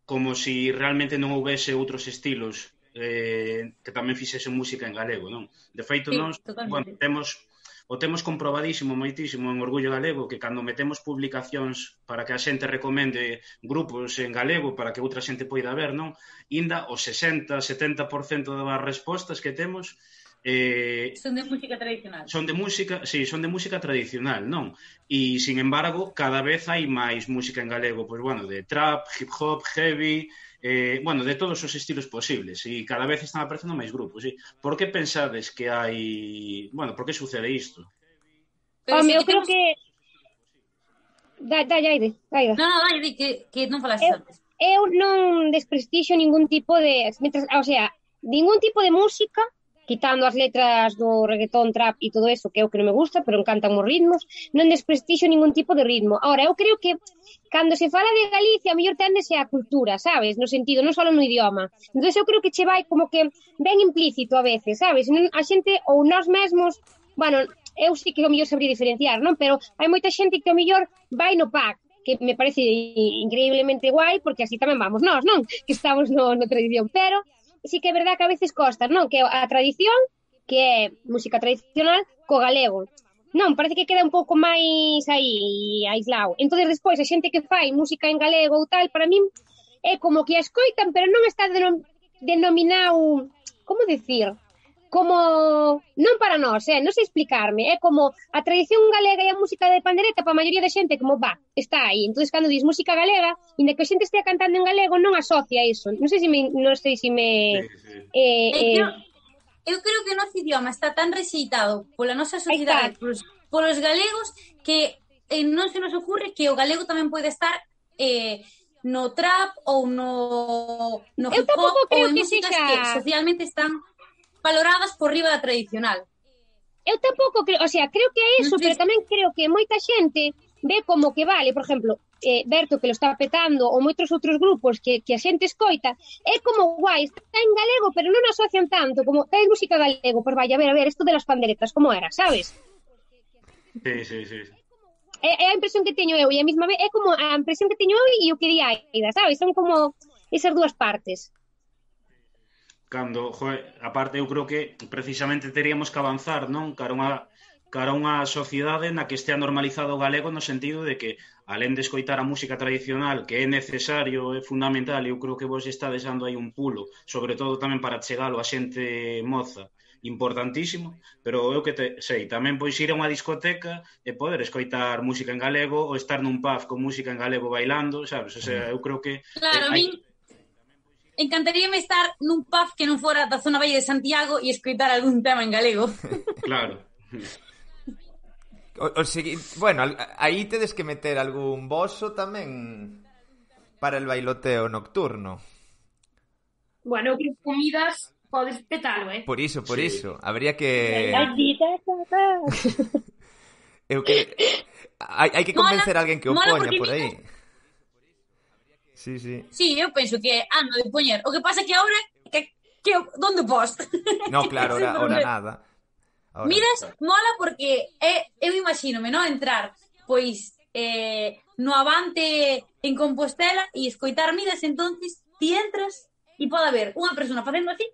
Como si realmente non houvese outros estilos que tamén fixesen música en galego, non? De feito, sí, nós, bueno, temos comprobadísimo moitísimo en Orgullo Galego que cando metemos publicacións para que a xente recomende grupos en galego para que outra xente poida ver, non? Inda o 60-70% das respostas que temos son de música tradicional. Son de música tradicional, non? E, sin embargo, cada vez hai máis música en galego, pois, bueno, de trap, hip hop, heavy, bueno, de todos os estilos posibles, e cada vez están aparecendo máis grupos, sí? Por que pensades que hai... Bueno, por que sucede isto? Home, eu creo que... Dalle, Aida. Non, dalle, que non falaste antes. Eu non desprestixio ningún tipo de... O sea, ningún tipo de música, quitando as letras do reggaetón, trap e todo eso, que é o que non me gusta, pero encantan os ritmos, non desprestixio ningún tipo de ritmo. Ahora, eu creo que cando se fala de Galicia, a mellor téndese a cultura, sabes? No sentido, non só no idioma. Entón, eu creo que che vai como que ben implícito a veces, sabes? A xente, ou nós mesmos, bueno, eu sí que o mellor sabría diferenciar, non? Pero hai moita xente que o mellor vai no pack, que me parece increíblemente guai, porque así tamén vamos nós, non? Que estamos no tradición, pero sí que é verdad que a veces costa, non? Que a tradición, que é música tradicional, co galego. Non, parece que queda un pouco máis aí, aislado. Entón, despois, a xente que fai música en galego ou tal, para min, é como que a escoitan, pero non está denominado, como decir, como, non para nós, non sei explicarme, é como a tradición galega e a música de pandereta para a maioría da xente, como, está aí. Entón, cando dis música galega, inda que a xente estea cantando en galego, non asocia iso. Non sei se me... Eu creo que o noso idioma está tan rexeitado pola nosa sociedade, polos galegos, que non se nos ocurre que o galego tamén pode estar no trap ou no hip hop ou en músicas que socialmente están valoradas por riba da tradicional. Eu tampouco creo, o sea, creo que é eso, pero tamén creo que moita xente ve como que vale, por exemplo, Berto, que lo está petando, ou moitos outros grupos que a xente escoita, é como guai, está en galego, pero non asocian tanto, como ten música galego, pois vai, a ver, isto de las panderetas, como era, sabes? Sí. É a impresión que teño eu, e a mesma vez é como a impresión que teño eu e o que di Aida, sabes? Son como esas dúas partes. Cando, aparte, eu creo que precisamente teríamos que avanzar, non? Cara cara a unha sociedade na que estea normalizado o galego no sentido de que, alén de escoitar a música tradicional, que é necesario, é fundamental, eu creo que vos está deixando aí un pulo, sobre todo tamén para chegalo a xente moza, importantísimo, pero eu que sei, tamén pois ir a unha discoteca e poder escoitar música en galego ou estar nun pub con música en galego bailando, sabes? O sea, eu creo que... Claro, a min encantaríame estar nun pub que non fora da zona Valle de Santiago e escoitar algún tema en galego. Claro. Bueno, aí tedes que meter algún boso tamén para el bailoteo nocturno. Bueno, que comidas podes petalo, Por iso, Sí. habría que... Eu que... Hai que convencer a alguén que o mola poña porque por aí. Sí. Sí, eu penso que ando de poñer. O que pasa que ahora que donde pos? No, claro, ahora nada. Ahora. Miras, mola porque eu imagínome, non? Entrar, pois, no Avante en Compostela e escoitar Midas, entonces ti entras e pode haber unha persona facendo así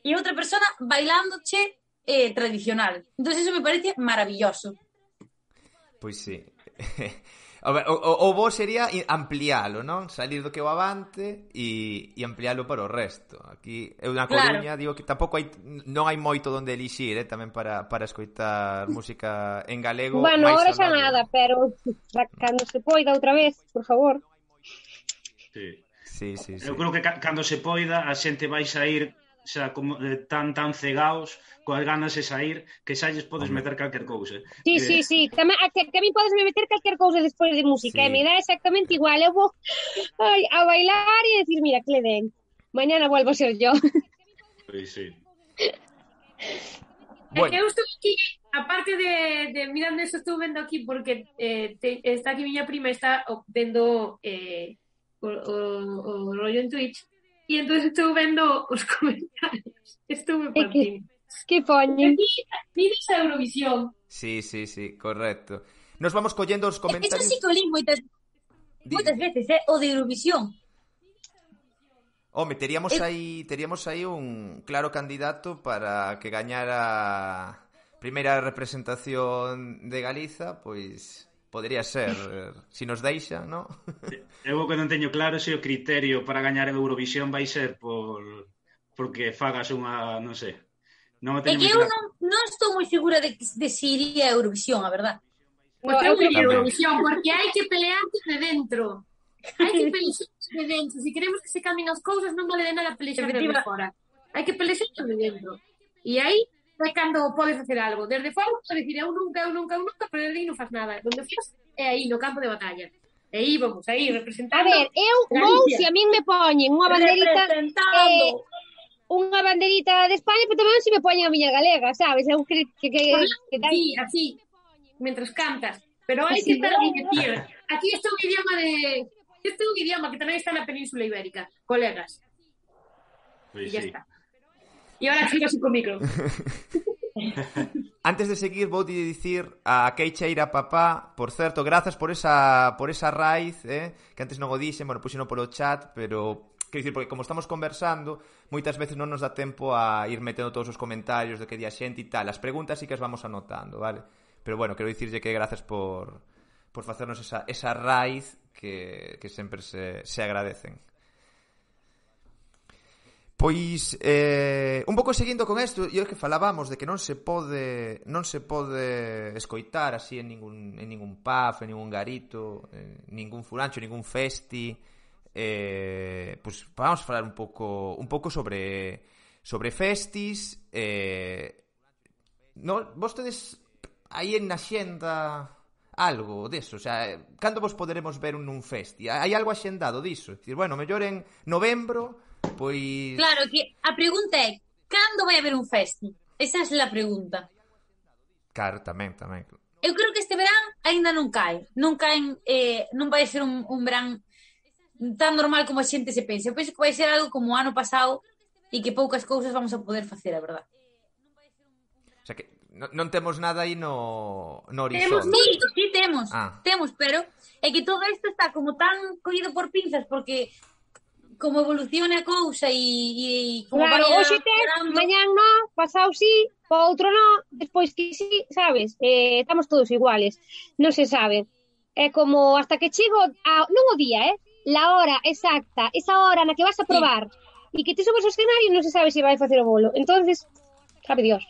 e outra persona bailándoche tradicional. Entonces eso me parece maravilloso. Pois sí. O bo sería amplialo, non? Salir do que o Avante e amplialo para o resto. Aquí, eu na Coruña, digo que tampouco non hai moito donde elixir, tamén para escoitar música en galego. Bueno, ahora xa nada, pero cando se poida outra vez, por favor. Sí. Sí. Eu creo que cando se poida a xente vai sair xa como tan cegaos coas ganas de sair que xa lles podes meter calquer cousa. Sí. Tamén, que a mí podes meter calquer cousa despois de música, me dá exactamente igual. Eu vou a bailar e decir, mira, que le den. Mañana vuelvo a ser yo. Pois sí. Bueno. Eu estou aquí, aparte de mirando eso, estou vendo aquí porque está aquí miña prima, está vendo o rollo en Twitch. E entón estou vendo os comentarios. Estuve partindo. Que poñen? Mides a Eurovisión. Sí, correcto. Nos vamos collendo os comentarios. Eso sí que o li moitas veces, o de Eurovisión. Home, teríamos aí un claro candidato para que gañara primeira representación de Galiza, pois podría ser, si nos deixa, ¿no? Eu que non teño claro se o criterio para gañar a Eurovisión vai ser porque fagas unha, non sei. Non É que eu non estou moi segura de si iría a Eurovisión, a verdad. Pues eu iría a Eurovisión, porque hai que pelearte de dentro. Hai que pelearse de dentro. Se queremos que se cambien as cousas, non vale de nada pelear de fora. Hai que pelearse de dentro. E aí é cando podes facer algo. Desde fora, podes dicir, eu nunca, pero desde aí non faz nada. Donde faz é aí, no campo de batalla. E aí, vamos, aí, representando... A ver, eu vou, se a min me poñen unha banderita de España, pero tamén se me poñen a miña galega, sabes? Eu que sí, así, mentras cantas. Pero hai que estar a dicir. Aquí está un idioma que tamén está na Península Ibérica, colegas. Pois ya sí. está. E agora sigo así con micro. Antes de seguir, vou dicir a Queixeira Papá, por certo, grazas por esa raíz, que antes non o dixen, bueno, puxeno polo chat, pero quero dicir, porque como estamos conversando, moitas veces non nos dá tempo a ir metendo todos os comentarios de que di a xente e tal. As preguntas sí que as vamos anotando, vale? Pero bueno, quero dicirlle que grazas por facernos esa raíz que sempre se agradecen. Pois, un pouco seguindo con isto, e o que falábamos de que non se pode escoitar así en ningún pub, en ningún garito, ningún furancho, ningún festi. Pois vamos a falar un pouco sobre festis. Vos tedes aí en axenda algo deso, o sea, cando vos poderemos ver nun festi? Hai algo axendado diso? Dicir, bueno, mellor en novembro, pois... Claro, que a pregunta é, cando vai haber un festi? Esa é a pregunta. Claro, tamén. Eu creo que este verán aínda non cae. Non vai ser un verán tan normal como a xente se pensa. Eu penso que vai ser algo como o ano pasado e que poucas cousas vamos a poder facer, a verdad. O sea que non temos nada aí no horizonte. Sí, temos, pero é que todo isto está como tan collido por pinzas porque como evolucione a cousa e como Claro, vaya hoxe tes, melorando. mañán no, pasado sí, po outro no, despois que sí, sabes? Estamos todos iguales, non se sabe. É como hasta que chego, non o día, la hora exacta, esa hora na que vas a Sí. probar, e que te subes ao escenario non se sabe se vai facer o bolo. Entonces, sabe Dios.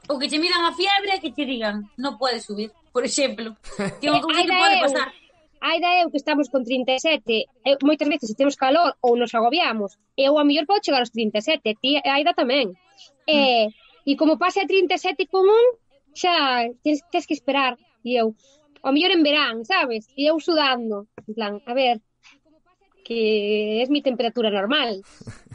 Ou que che midan a fiebre e que che digan non podes subir, por exemplo. Que é unha cousa Ai que da pode eu, pasar. ai da eu que estamos con 37, moitas veces se temos calor ou nos agobiamos, eu a mellor podo chegar aos 37, ti ai da tamén. E como pase a 37 con un, xa tes que esperar. E eu, ao mellor en verán, sabes? E eu sudando, en plan, a ver, que é mi temperatura normal.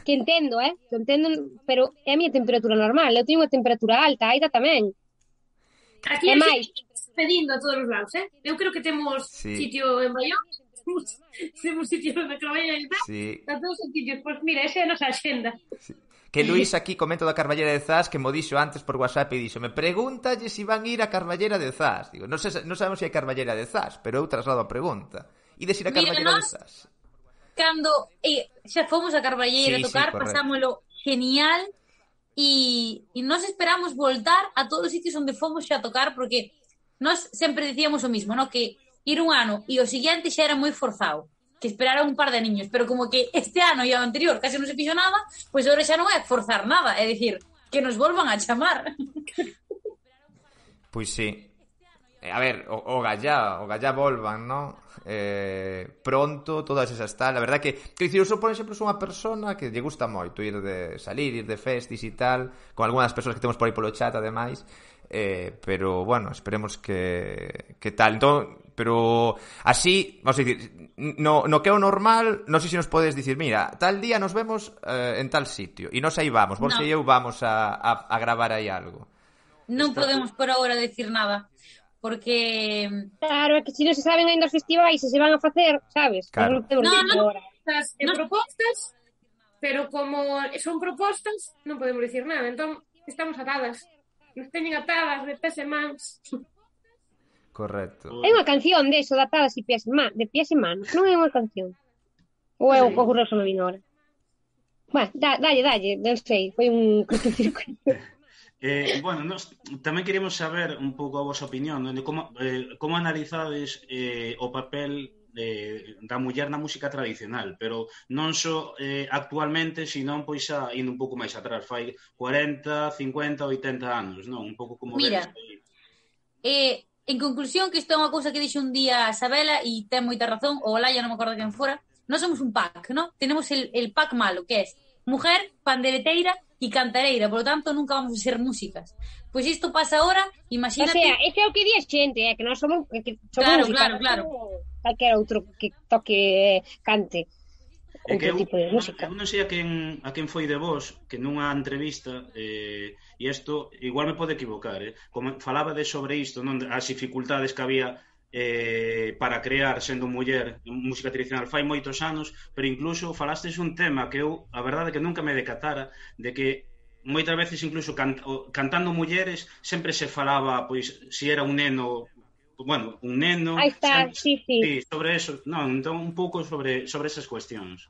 Que entendo, que entendo, pero é a miña temperatura normal. Eu teño unha temperatura alta, Aida tamén. Aquí É a máis. xente pedindo a todos os lados, Eu creo que temos Sí. sitio en Bayón, temos sitio na Carballera de Zas, Sí. a todos os sitios. Pois mira, esa é a nosa axenda. Que Luís aquí comento da Carballera de Zas, que mo dixo antes por WhatsApp e dixo, me pregúntalle se van ir a Carballera de Zas. Digo, non sabemos se hai Carballera de Zas, pero eu traslado a pregunta. Ides ir a Mira, Carballera de nós- Zas? Cando xa fomos a Carballeira Sí, a tocar, sí, correcto. pasámolo genial e nos esperamos voltar a todos os sitios onde fomos xa a tocar, porque nós sempre dicíamos o mismo, no? Que ir un ano e o siguiente xa era moi forzado, que esperaran un par de niños, pero como que este ano e o anterior case non se fixo nada, pois agora xa non é forzar nada, é dicir, que nos volvan a chamar. Pois sí. A ver, o Gallá volvan, ¿no? Pronto, todas esas tal. A verdad que dicir, eu sou, por exemplo, sou unha persona que lle gusta moito ir de salir, ir de festis e tal, con algunhas persoas que temos por aí polo chat, ademais. Pero, bueno, esperemos que tal. Entón, pero así, vamos a dicir, no que é o normal, non sei se nos podes dicir, mira, tal día nos vemos en tal sitio, e nos aí vamos, vos e eu vamos a gravar aí algo. Non podemos por agora decir nada, porque Claro, é que se non se saben ainda os festivais se van a facer, sabes? Claro. Non temos No, dicir no. agora. Estas propostas, pero como son propostas, non podemos dicir nada. Entón, estamos atadas. Nos teñen atadas de pés e mans. Correcto. É unha canción de eso, datadas de pies e manos, non é unha canción. Ou é o concurso me vino ahora. Bueno, dalle, non sei, foi un cortocircuito. Bueno, nos tamén queremos saber un pouco a vosa opinión, de como analizades o papel da muller na música tradicional, pero non só actualmente, senón pois xa indo un pouco máis atrás, fai 40, 50, 80 anos, non? Un pouco como Mira, en conclusión, que isto é unha cousa que dixo un día a Sabela e ten moita razón, ou Olaya, non me acordo quen fora, nós somos un pack, ¿no? Tenemos el pack malo, que é mujer, pandereteira e cantareira, por lo tanto nunca vamos a ser músicas. Pois isto pasa ahora, imagínate... O sea, ese é o que di a xente, que nós somos, Claro, música, claro. Calquera outro que toque, cante outro tipo de música. Eu non sei a quen foi de vos que nunha entrevista e isto igual me pode equivocar, como falaba de sobre isto, non, as dificultades que había para crear sendo muller música tradicional fai moitos anos, pero incluso falastes un tema que eu, a verdade que nunca me decatara, de que moitas veces incluso cantando mulleres sempre se falaba, pois, se era un neno, bueno, un neno... Aí está, sí. Sobre eso, non, entón un pouco sobre esas cuestións.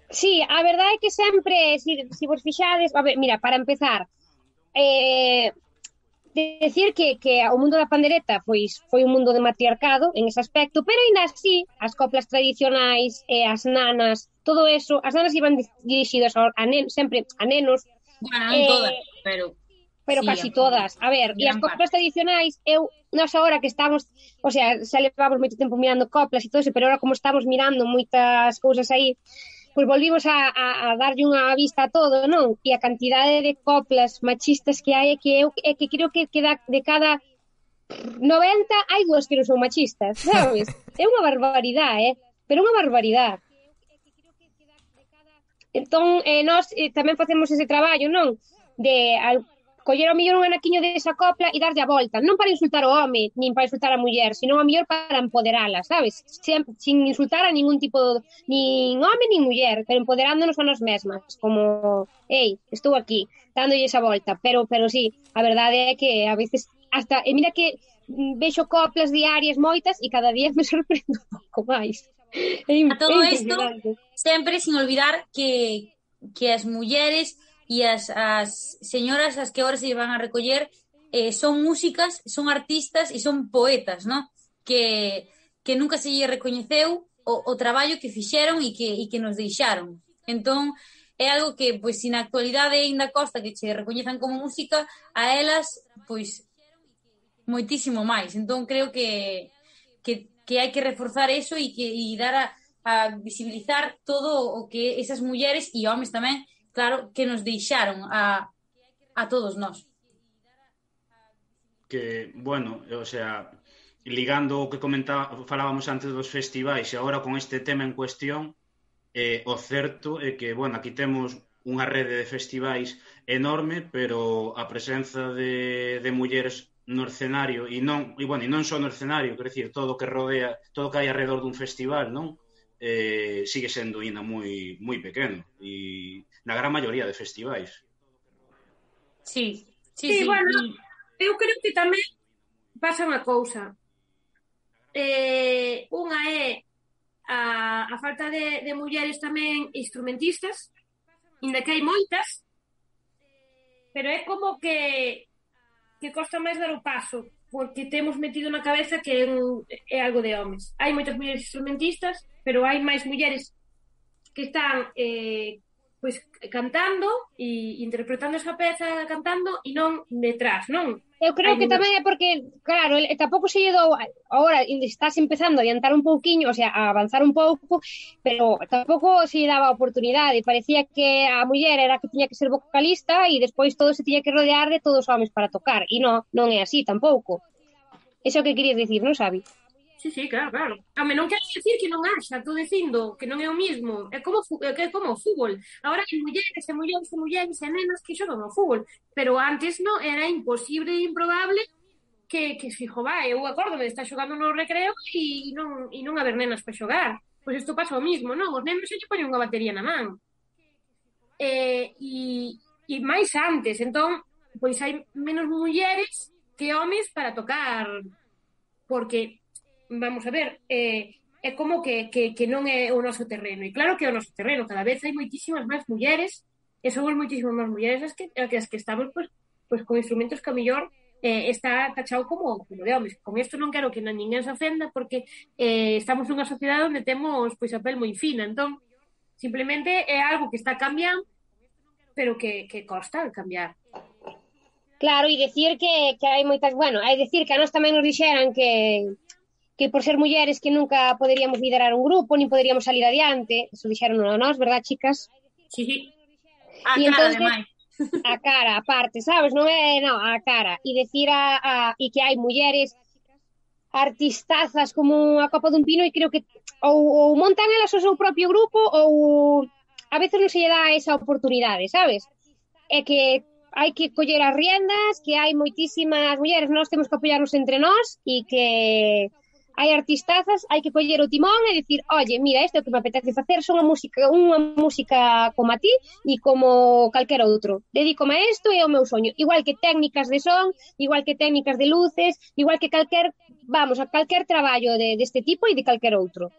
Sí, a verdade é que sempre, se vos fixades, a ver, mira, para empezar, decir que o mundo da pandereta foi un mundo de matriarcado en ese aspecto, pero ainda así, as coplas tradicionais, as nanas, todo eso, as nanas iban dirixidas sempre a nenos. Bueno, non todas, pero sí, casi todas. A ver, e as coplas tradicionais, nós agora que estamos, o sea, xa levamos moito tempo mirando coplas e todo eso, pero agora como estamos mirando moitas cousas aí, pois volvimos a darlle unha vista a todo, non? E a cantidade de coplas machistas que hai é que creo que de cada 90 hai dúas que non son machistas, sabes? É unha barbaridade, pero unha barbaridade. Entón, nós tamén facemos ese traballo, non? De coller ao millón un anaquiño desa copla e darlle a volta, non para insultar o home, nin para insultar a muller, sino a mellor para empoderala, sabes? Sin insultar a ningún tipo, nin home nin muller, pero empoderándonos a nós mesmas, como, estou aquí, dándolle esa volta, pero sí, a verdade é que a veces hasta, e mira que vexo coplas diarias moitas e cada día me sorprendo un pouco máis. A todo isto, impresionante. sempre sin olvidar que as mulleres e as señoras as que agora se van a recoller son músicas, son artistas e son poetas, ¿no? Que nunca se lle recoñeceu o traballo que fixeron e que nos deixaron. Entón, é algo que, pois, se na actualidade ainda costa que che recoñezan como música, a elas, pois, moitísimo máis. Entón, creo que hai que reforzar eso e dar a visibilizar todo o que esas mulleres e homes tamén, claro, que nos deixaron a todos nós. Que, bueno, o sea, ligando o que falábamos antes dos festivais e agora con este tema en cuestión, o certo é que, bueno, aquí temos unha rede de festivais enorme, pero a presenza de mulleres no escenario e non só no escenario, quer decir, todo o que rodea, todo o que hai alrededor dun festival, non? Sigue sendo ainda moi moi pequeno e na gran maioría de festivais. Sí. Bueno, eu creo que tamén pasa unha cousa. Unha é a falta de mulleres tamén instrumentistas, inda que hai moitas, pero é como que costa máis dar o paso, porque temos metido na cabeza que é algo de homes. Hai moitas mulleres instrumentistas, pero hai máis mulleres que están pois cantando e interpretando esa peza cantando e non detrás, non? Eu creo que tamén é porque, claro, tampouco se lle dou, agora estás empezando a adiantar un pouquiño, o sea, a avanzar un pouco, pero tampouco se lle daba a oportunidade, parecía que a muller era que tiña que ser vocalista e despois todo se tiña que rodear de todos os homes para tocar, e non é así tampouco. Eso que querías dicir, non, Xavi? Sí, claro. Home, non quero dicir que non haxa, estou dicindo que non é o mismo. É como o fútbol. Agora hai mulleres e nenas que xogan ao fútbol, pero antes non era imposible e improbable que fijo, eu acórdome de estar xogando no recreo e non haber nenas para xogar. Pois isto pasa o mismo, non? Os nenos se lle poñen unha batería na man. E máis antes, entón, pois hai menos mulleres que homes para tocar, porque vamos a ver, é como que non é o noso terreno. E claro que é o noso terreno, cada vez hai moitísimas máis mulleres, e somos moitísimas máis mulleres as que estamos pois con instrumentos que a mellor está tachado como de homes. Con isto non quero que ninguén se ofenda, porque estamos nunha sociedade onde temos pois a pel moi fina, entón simplemente é algo que está cambiando, pero que costa cambiar. Claro, e dicir que hai moitas, bueno, é dicir que a nós tamén nos dixeran que por ser mulleres que nunca poderíamos liderar un grupo, nin poderíamos salir adiante. Eso dixeron a nós, verdad, chicas? Sí. A cara, ademais. A cara, aparte, sabes? Non é, non, a cara. E dicir e que hai mulleres artistazas como a copa dun pino, e creo que ou montan elas o seu propio grupo ou a veces non se lle dá esa oportunidade, sabes? É que hai que coller as riendas, que hai moitísimas mulleres, nós temos que apoiarnos entre nós e que hai artistazas, hai que coller o timón e dicir, oye, mira, isto é o que me apetece facer, son unha música como a ti e como calquera outro. Dedícome a isto e é o meu soño. Igual que técnicas de son, igual que técnicas de luces, igual que calquer traballo deste tipo e de calquer outro.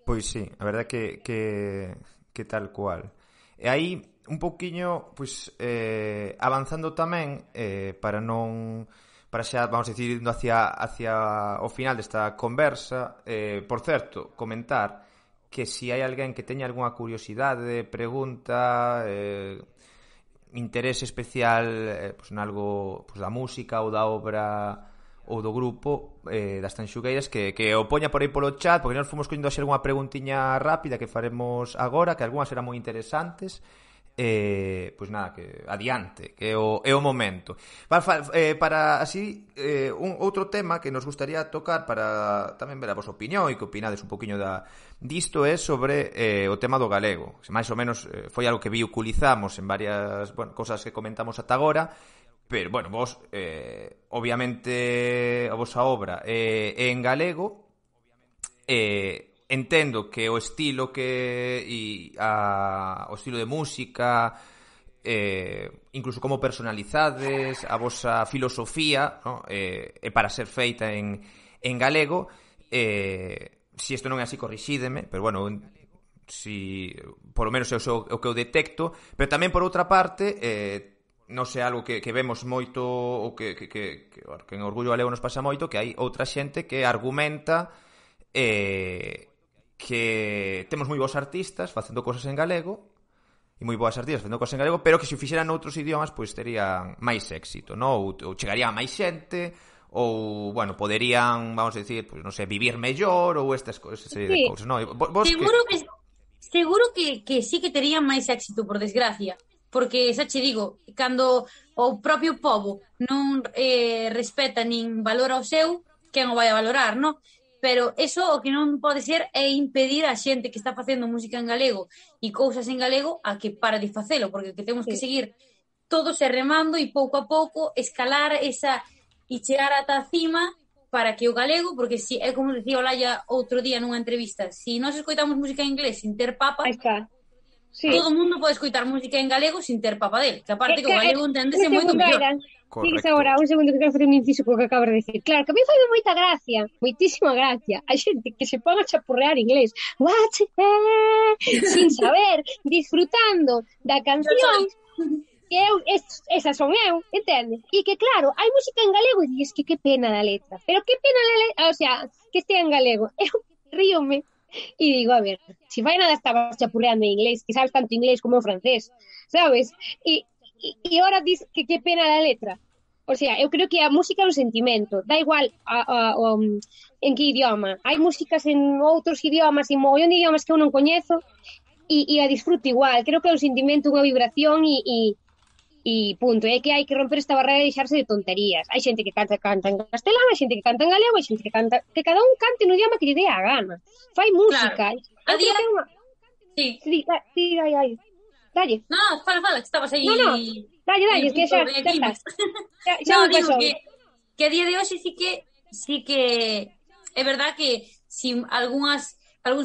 Pois sí, a verdade que tal cual. E aí, un pouquiño, pois, avanzando tamén, para xa, vamos a decir, indo hacia o final desta conversa, por certo, comentar que se hai alguén que teña algunha curiosidade, pregunta, interese especial pois, nalgo pois, da música ou da obra ou do grupo das Tanxugueiras, que o poña por aí polo chat, porque nós fomos collendo xa algunha preguntiña rápida que faremos agora, que algunhas serán moi interesantes. Pois nada, que adiante, que é o momento. Para así, outro tema que nos gustaría tocar para tamén ver a vosa opinión e que opinades un poquinho disto é sobre o tema do galego. Mais ou menos foi algo que vehiculizamos en varias cosas que comentamos ata agora, pero, bueno, vos, obviamente, a vosa obra é en galego, entendo que o estilo o estilo de música incluso como personalizades a vosa filosofía, no? Para ser feita en galego. Si isto non é así, corrixídeme, pero bueno, si por lo menos é o que eu detecto. Pero tamén, por outra parte, non sei, algo que vemos moito, ou que en Orgullo Galego nos pasa moito, que hai outra xente que argumenta que temos moi bons artistas facendo cosas en galego, e moi boas artistas facendo cosas en galego, pero que se o fixeran noutros idiomas, pois terían máis éxito, non? Ou chegaría a máis xente, ou, bueno, poderían, vamos a decir, pues, non sei, vivir mellor, ou estas cousas, serie de cousas, non? Seguro que sí que terían máis éxito, por desgracia, porque, xa che digo, cando o propio pobo non respeta nin valora o seu, quen o vai a valorar, non? Pero eso o que non pode ser é impedir a xente que está facendo música en galego e cousas en galego a que para de facelo, porque que temos que seguir todos remando e pouco a pouco escalar esa e chegar ata a cima para que o galego, porque si é como dicía Olaya outro día nunha entrevista, si nós escoitamos música en inglés sin ter papa, todo o mundo pode escoitar música en galego sin ter papa del, que aparte que o galego enténdese moito mellor. Digues agora, un segundo que quero facer un inciso co que acabas de decir. Claro, que a mí foi moita gracia, moitísima gracia, a xente que se pon a chapurrear inglés, sin saber, disfrutando da canción, que eu, esas son eu, entende? E que claro, hai música en galego e dices que pena da letra, pero que pena da letra, o sea, que estea en galego. Eu ríome e digo, a ver, si vai nada estabas chapurreando en inglés, que sabes tanto inglés como o francés, sabes? E ahora dices que pena da letra. O sea, eu creo que a música é un sentimento, da igual en que idioma. Hai músicas en outros idiomas, en mogollón de idiomas que eu non coñezo, e a disfruto igual. Creo que é un sentimento, unha vibración e punto. É que hai que romper esta barrera e deixarse de tonterías. Hai xente que canta en castelán, hai xente que canta en galego, hai xente que canta... Que cada un cante no idioma que lle dé a gana. Fai música. Claro. A día... Sí. Dalle. No, fala, que estabas aí... No, dalle, que xa estás. No, digo que a día de hoxe sí que é verdad que si algúns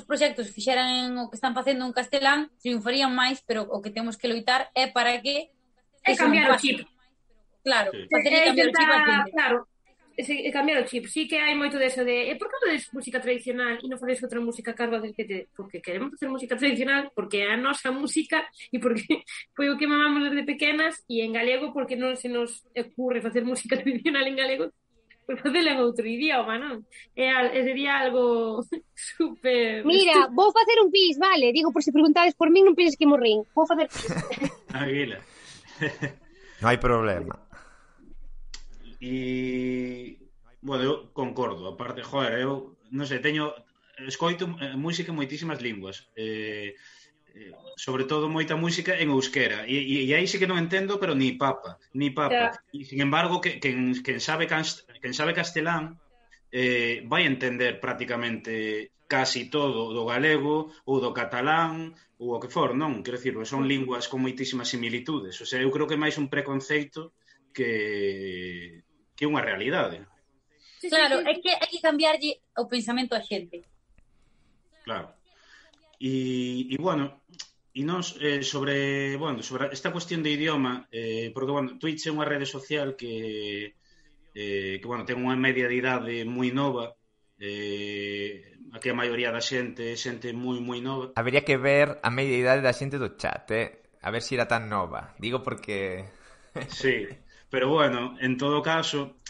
proxectos fixeran o que están facendo en castelán, triunfarían máis, pero o que temos que loitar é para que é cambiar o chip. Claro, facer cambiar o chip a xente. Claro, cambiar o chip. Sí que hai moito deso de por que non é música tradicional e non faces outra música carva porque queremos facer música tradicional, porque é a nosa música e porque foi o que mamamos desde pequenas, e en galego porque non se nos ocurre facer música tradicional en galego, pois facela en outro idioma, non? Sería algo super... Mira, vou facer un pis, vale? Digo, por se preguntades por min, non penses que morrín. Vou facer pis. Aguila. Non hai problema. E, bueno, eu concordo. Aparte, joder, eu, non sei, escoito música en moitísimas linguas. Sobre todo moita música en euskera. E aí sí que non entendo, pero ni papa. Yeah. E, sin embargo, quen sabe castelán vai entender prácticamente casi todo do galego ou do catalán ou o que for, non? Quero dicir, son linguas con moitísimas similitudes. O sea, eu creo que é máis un preconceito que unha realidade. Claro, é que hai que cambiarlle o pensamento a xente. Claro. E bueno, e nós sobre esta cuestión de idioma, porque, bueno, Twitch é unha rede social que bueno, ten unha media de idade moi nova, aquí a maioría da xente moi nova. Habería que ver a media idade da xente do chat, a ver se era tan nova. Digo porque... Sí, pero bueno, en todo caso,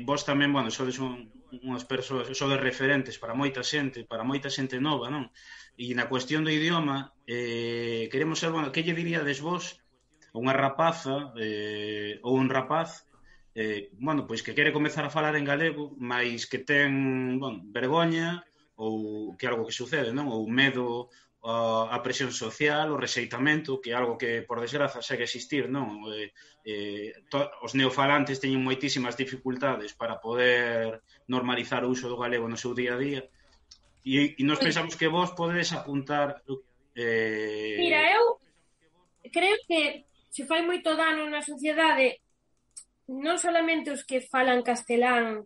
vos tamén, bueno, sodes unhas persoas, sodes referentes para moita xente nova, non? E na cuestión do idioma, queremos ser, bueno, que lle diríades vos a unha rapaza ou un rapaz, bueno, pois que quere comezar a falar en galego, mas que ten, bueno, vergoña ou que algo que sucede, non? Ou medo a presión social, o rexeitamento, que é algo que, por desgraza, segue existir, non? Os neofalantes teñen moitísimas dificultades para poder normalizar o uso do galego no seu día a día. E nós pensamos que vos podedes apuntar... Mira, eu creo que se fai moito dano na sociedade, non solamente os que falan castelán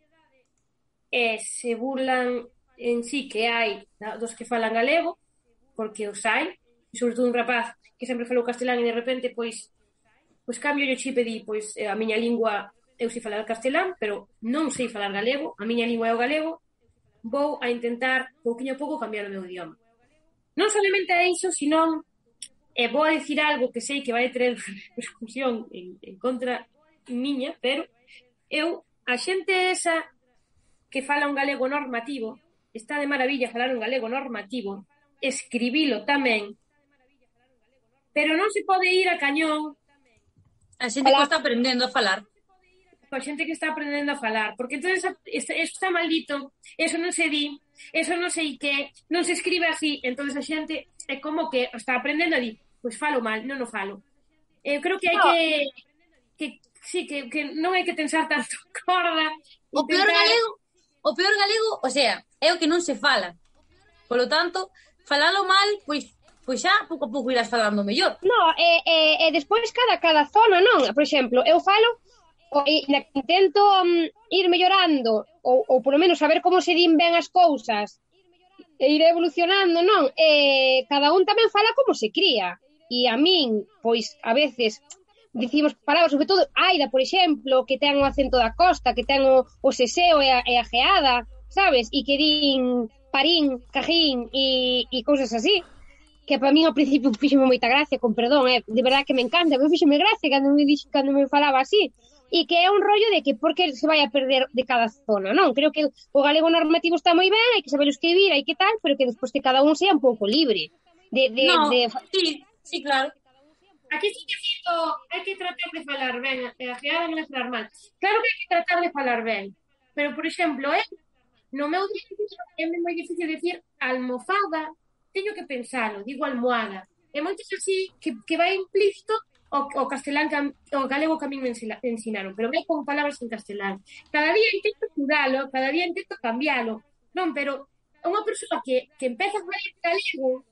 se burlan en sí que hai dos que falan galego, porque os hai, sobre todo un rapaz que sempre falou castelán e de repente, pois cambio o chip e di, pois a miña lingua, eu sei falar castelán, pero non sei falar galego, a miña lingua é o galego, vou a intentar, pouquinho a pouco, cambiar o meu idioma. Non solamente é iso, sino vou a dicir algo que sei que vai ter repercusión en contra miña, pero a xente esa que fala un galego normativo, está de maravilla falar un galego normativo, escribilo tamén, pero non se pode ir a cañón a xente que está aprendendo a falar. Coa xente que está aprendendo a falar, porque entonces eso está maldito, eso non se di, eso non sei que, non se escribe así, entonces a xente é como que está aprendendo a di, pois falo mal, non o falo. Eu creo que hai que non hai que tensar tanto corda. O peor galego, o sea, é o que non se fala. Polo tanto, falalo mal, pois xa pouco a pouco irás falando mellor. No, despois cada zona, non? Por exemplo, eu falo intento ir mellorando ou polo menos saber como se din ben as cousas e ir evolucionando, non? Cada un tamén fala como se cría. E a min, pois, a veces dicimos palabras, sobre todo Aida, por exemplo, que ten o acento da costa, que ten o seseo e a geada, sabes? E que din parín, cajín e cousas así, que para min ao principio fíxeme moita gracia, con perdón, de verdad que me encanta, me fíxeme gracia cando me falaba así, e que é un rollo de que por que se vai a perder de cada zona, non? Creo que o galego normativo está moi ben, hai que saber escribir, hai que tal, pero que despois que cada un sea un pouco libre. Sí, claro. Aquí sí que cito, hai que tratar de falar ben, a geada non é falar mal. Claro que hai que tratar de falar ben, pero, por exemplo, no meu día é moi difícil decir almofada, teño que pensalo, digo almohada. E moitos así que vai implícito o castelán, o galego que a min me ensinaron, pero vai con palabras en castelán. Cada día intento estudalo, cada día intento cambialo. Non, pero unha persoa que empeza a falar galego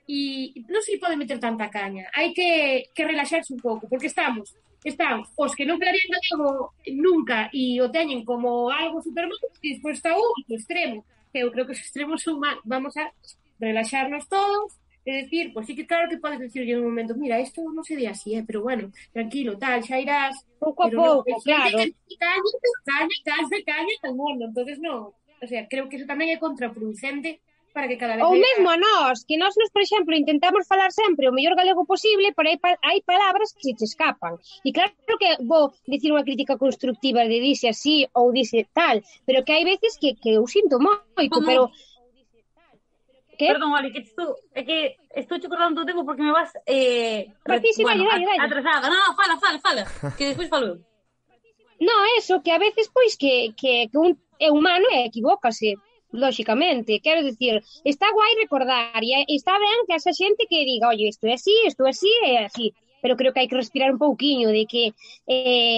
e non se lhe pode meter tanta caña. Hai que relaxarse un pouco, porque están os que non falarían galego nunca e o teñen como algo super malo, e despois está o extremo, que eu creo que os extremos son mal. Vamos a relaxarnos todos e decir, pois sí que claro que podes decirlle en un momento, mira, isto non se di así, pero bueno, tranquilo, tal, xa irás pouco a pouco, claro. Caña, entonces non, o sea, creo que eso tamén é contraproducente para que cada vez... Ou mesmo a nós, que nós, por exemplo, intentamos falar sempre o mellor galego posible, pero hai palabras que se te escapan. E claro que vou dicir unha crítica constructiva de dice así ou dice tal, pero que hai veces que eu sinto moito, pero... ¿Qué? Perdón, Oli, que estou che cortando o tempo porque me vas dale. atrasada. No, fala, que despois falo eu. No, eso, que a veces, pois, que un é humano e equivócase, lóxicamente. Quero dicir, está guai recordar e está ben que esa xente que diga, oye, isto é así, é así. Pero creo que hai que respirar un pouquiño de que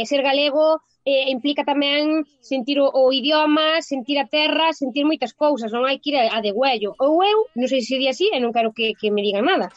ser galego implica tamén sentir o idioma, sentir a terra, sentir moitas cousas, non hai que ir a degüello. Ou eu, non sei se di así, e non quero que me digan nada.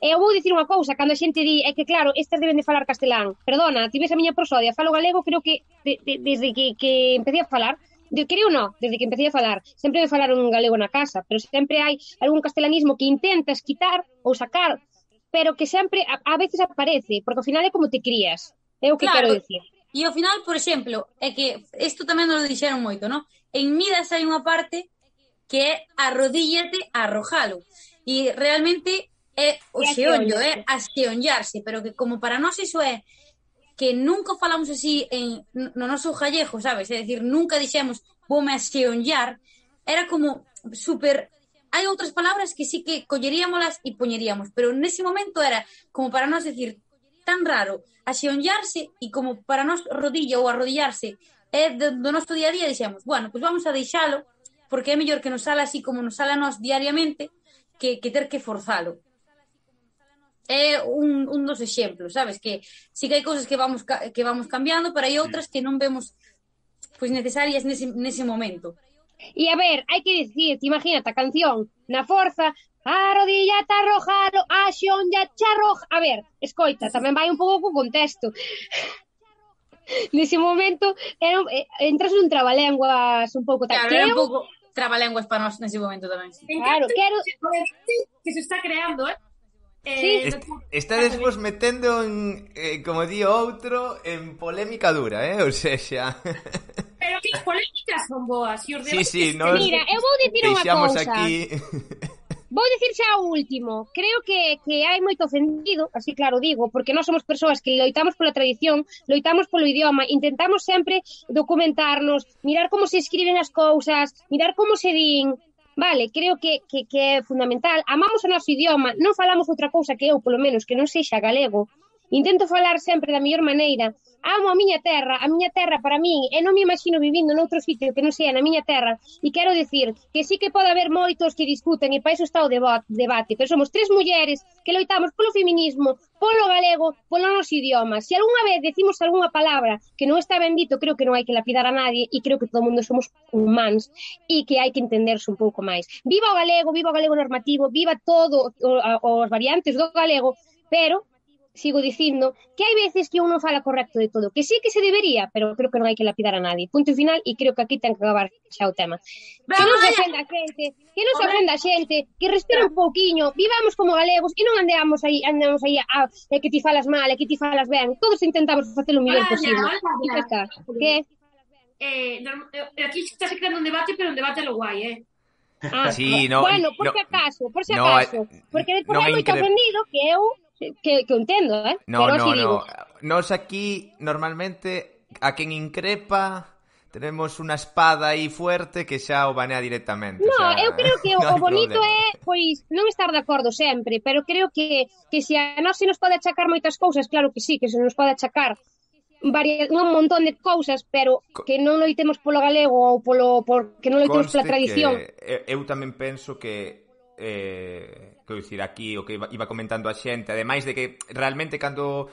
Eu vou dicir unha cousa, cando a xente di, é que claro, estas deben de falar castelán. Perdona, ti ves a miña prosodia, falo galego, creo que desde que empecé a falar, desde que empecé a falar, sempre me falaron galego na casa, pero sempre hai algún castelanismo que intentas quitar ou sacar, pero que sempre, a veces aparece, porque ao final é como te crías. É o que quero dicir. E ao final, por exemplo, é que isto tamén nos lo dixeron moito, non? En Midas hai unha parte que é arrodíllate a arrojalo. E realmente é o xeonllo, é a xeonllarse, pero que como para nós iso é que nunca falamos así no noso gallego, sabes? É dicir, nunca dixemos voume a xeonllar, era como super... Hai outras palabras que sí que colleríamolas e poñeríamos, pero nese momento era como para nós decir tan raro a xeonllarse e como para nós rodilla ou arrodillarse é do noso día a día, dixemos, bueno, pois vamos a deixalo porque é mellor que nos sala así como nos sala a nós diariamente que ter que forzalo. É un dos exemplos, sabes? Que sí que hai cousas que vamos cambiando, pero hai outras que non vemos pois necesarias nese momento. E a ver, hai que dicir, imagínate a canción na forza, arrodillate a arrojalo, a xeonllarche arroja. A ver, escoita, tamén vai un pouco co contexto. Nese momento entras nun trabalenguas un pouco tal. Claro, era un pouco trabalenguas para nós nese momento tamén. Sí. Claro, quero que se está creando, Sí. Estades vos metendo en, como di outro, en polémica dura, o sea... Pero que as polémicas son boas. E os Sí, debates sí, nos Mira, eu vou dicir unha deixamos cousa. aquí... Vou dicir xa o último. Creo que hai moito ofendido, así claro digo, porque nós somos persoas que loitamos pola tradición, loitamos polo idioma, intentamos sempre documentarnos, mirar como se escriben as cousas, mirar como se din. Vale, creo que é fundamental. Amamos o noso idioma, non falamos outra cousa que eu, polo menos, que non sexa galego. Intento falar sempre da mellor maneira. Amo a miña terra para min, e non me imagino vivindo noutro sitio que non sea na miña terra, e quero dicir que sí que pode haber moitos que discuten, e para iso está o debate, pero somos 3 mulleres que loitamos polo feminismo, polo galego, polo noso idioma. Se algunha vez decimos algunha palabra que non está ben dito, creo que non hai que lapidar a nadie, e creo que todo o mundo somos humanos, e que hai que entenderse un pouco máis. Viva o galego normativo, viva todo os variantes do galego, pero sigo dicindo que hai veces que un non fala correcto de todo, que sí que se debería, pero creo que non hai que lapidar a nadie. Punto final, e creo que aquí ten que acabar xa o tema. Que non se ofenda a xente, que respira un pouquiño, vivamos como galegos e non andamos aí que ti falas mal, que ti falas ben. Todos intentamos facer o mellor posible. E xa está. Que? Aquí está se creando un debate, pero un debate a lo guai, Sí, no, bueno, por si acaso, porque despois hai moito ofendido que eu que entendo, No. Nos aquí, normalmente, a quen increpa, tenemos unha espada aí fuerte que xa o banea directamente. No, o sea, eu creo que o bonito problema. é, pois, non estar de acordo sempre, pero creo que se a nós se nos pode achacar moitas cousas, claro que sí, que se nos pode achacar un montón de cousas, pero que non loitemos polo galego ou porque non loitemos pola tradición. Eu tamén penso que quero dicir, aquí o que iba comentando a xente, ademais de que realmente cando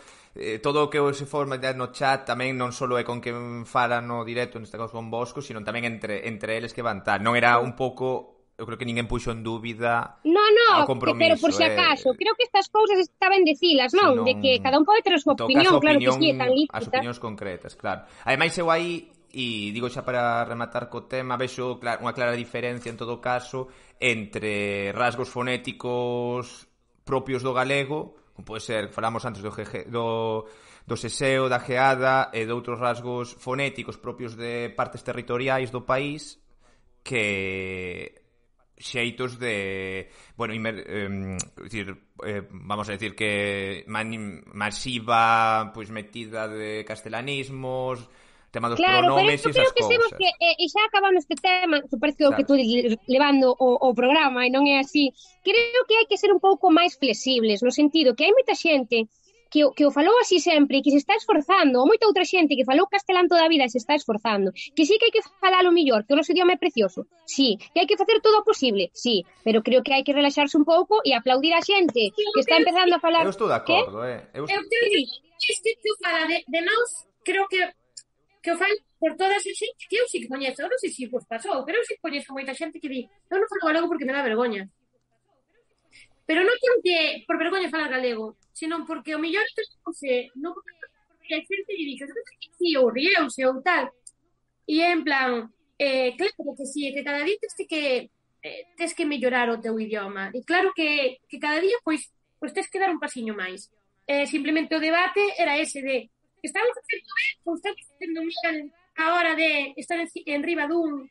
todo o que se forma no chat tamén non só é con quen fala no directo, neste caso con Bosco, sino tamén entre eles que van tal. Non era un pouco, eu creo que ninguén puxo en dúbida o compromiso. Pero por si acaso, creo que estas cousas está ben dicilas, non? De que cada un pode ter a súa opinión, claro que sí, é tan lícita. As opinións concretas, claro. Ademais, eu aí, e digo xa para rematar co tema, vexo unha clara diferencia en todo caso entre rasgos fonéticos propios do galego, como pode ser, falamos antes do seseo, da geada e de outros rasgos fonéticos propios de partes territoriais do país que xeitos de, bueno, vamos a decir que masiva, pois metida de castelanismos, tema dos pronomes e esas cousas. Que, e xa acabando este tema, que parece que tú levando o programa e non é así, creo que hai que ser un pouco máis flexibles, no sentido que hai moita xente que o falou así sempre e que se está esforzando, ou moita outra xente que falou castelán toda a vida e se está esforzando, que sí que hai que falalo mellor, que o noso idioma é precioso, sí, que hai que facer todo o posible, sí, pero creo que hai que relaxarse un pouco e aplaudir a xente que está empezando a falar... Eu estou de acordo, Eu te fala de nós, creo que o fai por todas as xente que eu sí que coñezo, eu non sei se vos pasou, pero eu sí que coñezo moita xente que di, eu non falo galego porque me dá vergoña. Pero non porque por vergoña falar galego, sino porque o mellor non porque hai xente que dice, sí, ou rieuse ou tal, e é en plan, claro que sí, que cada día tes que mellorar o teu idioma, e claro que cada día pois tes que dar un pasiño máis. Simplemente o debate era ese de estamos facendo ben ou estamos facendo mal a hora de estar en riba dun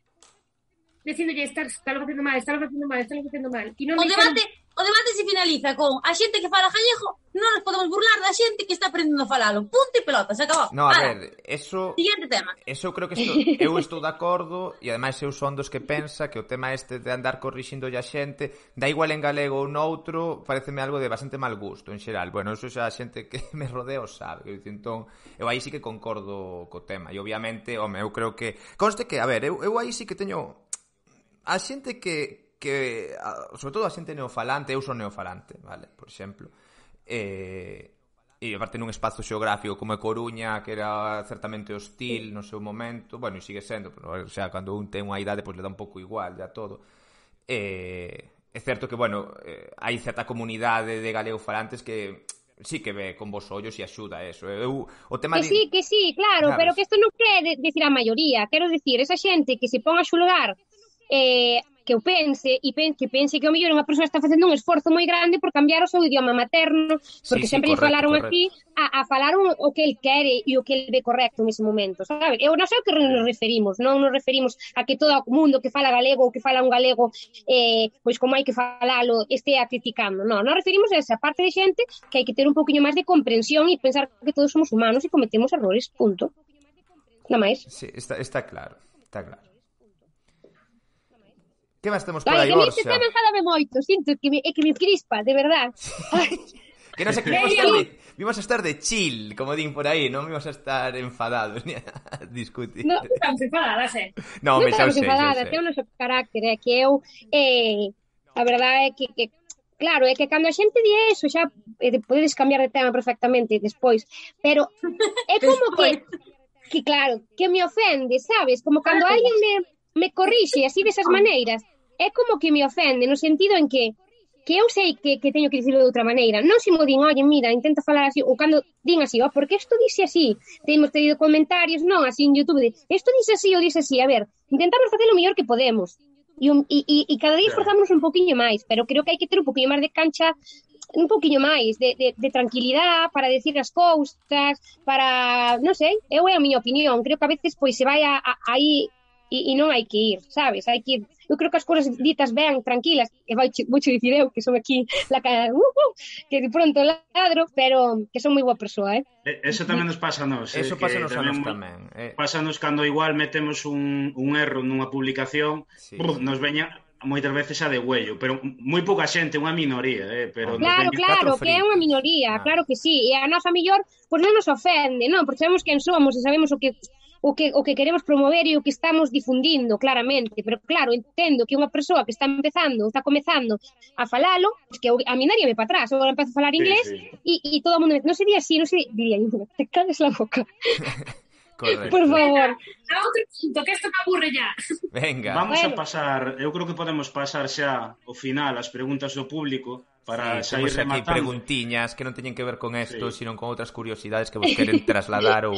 dicíndolle estás facendo mal. E non o debate se finaliza con a xente que fala gallego non nos podemos burlar da xente que está aprendendo a falalo. Punto e pelota, se acabou. No, a ver, eso... Siguiente tema. Eso creo que eu estou de acordo e ademais eu son dos que pensa que o tema este de andar corrixindo a xente, da igual en galego ou noutro, pareceme algo de bastante mal gusto en xeral. Bueno, eso xa a xente que me rodea o sabe. Entón, eu aí sí que concordo co tema. E obviamente, home, eu creo que... Conste que, a ver, eu aí sí que teño... A xente que sobre todo a xente neofalante, eu son neofalante, vale, por exemplo, e aparte nun espazo xeográfico como é Coruña, que era certamente hostil no seu momento, bueno, e sigue sendo, pero, o sea, cando un ten unha idade, pois le dá un pouco igual, ya todo. É certo que, bueno, hai certa comunidade de galegofalantes que sí que ve con vos ollos e axuda eso. O tema que sí, claro, pero que isto non quere decir a maioría, quero decir, esa xente que se pon a xulgar eu pense que pense que o mellor unha persoa está facendo un esforzo moi grande por cambiar o seu idioma materno, porque sempre lle falaron así a falar o que el quere e o que el ve correcto nese momento, sabes? Eu non sei o que nos referimos, non nos referimos a que todo o mundo que fala galego ou que fala un galego pois como hai que falalo estea criticando, non, nos referimos a esa parte de xente que hai que ter un poquinho máis de comprensión e pensar que todos somos humanos e cometemos errores, punto. Nada máis. Sí, está claro, está claro. Que máis temos por aí, Borxa? Borxa? Que me enfadame moito, sinto que me crispa, de verdad. Que non sei que vimos a estar de chill, como din por aí, non vimos a estar enfadados ni a discutir. No, Estamos enfadadas, No, me xa estamos sei. enfadadas, é o noso carácter, é que eu, a verdade é que claro, é que cando a xente di eso, xa podedes cambiar de tema perfectamente despois, pero é como que claro, que me ofende, sabes? Como cando alguén me corrixe así desas maneiras, é como que me ofende, no sentido en que eu sei que teño que dicirlo de outra maneira. Non se mo din, oye, mira, intenta falar así, ou cando din así, porque isto dice así. Temos tenido comentarios, non, así en YouTube, de isto dice así ou dice así. A ver, intentamos facer o mellor que podemos. E cada día esforzámonos un poquinho máis, pero creo que hai que ter un poquinho máis de cancha, un poquinho máis de tranquilidade para decir as cousas, para, non sei, é a miña opinión. Creo que a veces pois se vai aí e non hai que ir, sabes? Hai que ir. Eu creo que as cousas ditas ben, tranquilas, que vouche dicir eu, que son aquí que de pronto ladro, pero que son moi boa persoa, Eso tamén nos pasa a nos. Eso pasa nos a nos tamén. Pásanos cando igual metemos un erro nunha publicación, sí. Nos veña moitas veces a de huello, pero moi pouca xente, unha minoría, pero claro, que é unha minoría, claro que sí, e a nosa mellor, pois non nos ofende, non, porque sabemos quen somos e sabemos o que queremos promover e o que estamos difundindo, claramente, pero claro, entendo que unha persoa que está comezando a falalo, pues que a min daríame para atrás, agora empezo a falar inglés e todo o mundo, non sería así, non se diría, te calles la boca. Correcto. Por favor. A outro punto, que isto me aburre ya. Venga. Vamos a pasar, eu creo que podemos pasar xa ao final as preguntas do público para sair rematando. Aquí preguntiñas que non teñen que ver con isto, sino con outras curiosidades que vos queren trasladar ou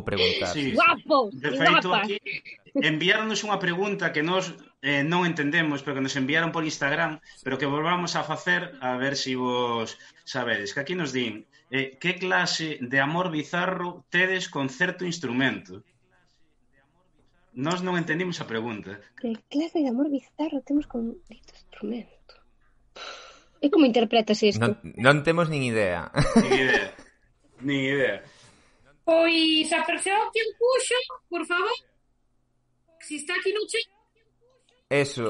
preguntar. Sí. Guapos, de feito, aquí enviáronos unha pregunta que nos non entendemos, pero que nos enviaron por Instagram, pero que volvamos a facer a ver se vos sabedes. Que aquí nos din, que clase de amor bizarro tedes con certo instrumento? Nós non entendimos a pregunta. Que clase de amor bizarro temos con certo instrumento? E como interpretas isto? Non temos nin idea. Nin idea. Pois a persoa que puxo, por favor, se está aquí no chat. Eso.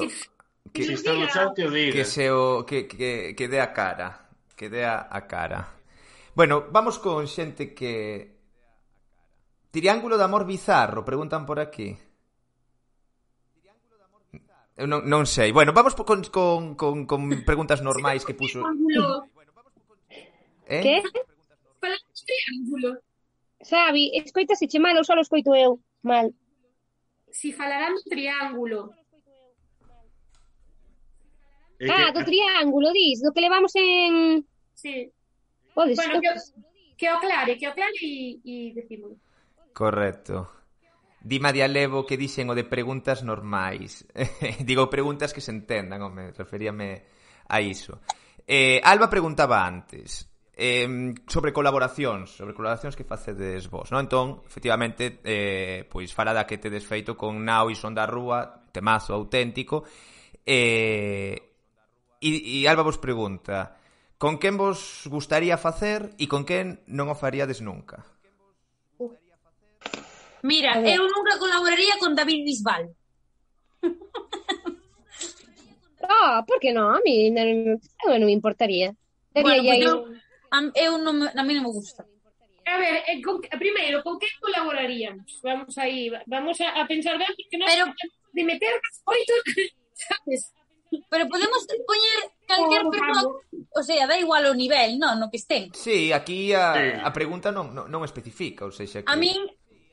Que se está no chat que o diga. Que dé a cara. Que dé a cara. Bueno, vamos con xente que... Triángulo de amor bizarro, preguntan por aquí. Eu non sei. Bueno, vamos con preguntas normais que puso... Que? Falamos triángulo. Sabi, escoitase che mal ou só lo escoito eu mal? Si falarán do triángulo. Do triángulo, dis, do que levamos en... Sí. Podes, bueno, que o aclare e decimos. Correcto. Dima de Alevo que dixen o de preguntas normais. Digo preguntas que se entendan, home, referíame a iso. Alba preguntaba antes sobre colaboracións que facedes vos, non? Entón, efectivamente, pois fala da que tedes feito con Nao e Son da Rúa, temazo auténtico, e Alba vos pregunta, con quen vos gustaría facer e con quen non o faríades nunca? Mira, eu nunca colaboraría con David Bisbal. Por que non? A mí non me importaría. Bueno, pues eu non me gusta. A ver, primeiro, con que colaboraríamos? Vamos a pensar ben, porque non de meter oito, sabes? Pero podemos poñer calquer persoa, o sea, da igual o nivel, non, no que estén. Sí, aquí a pregunta non especifica, ou seja, que... A min,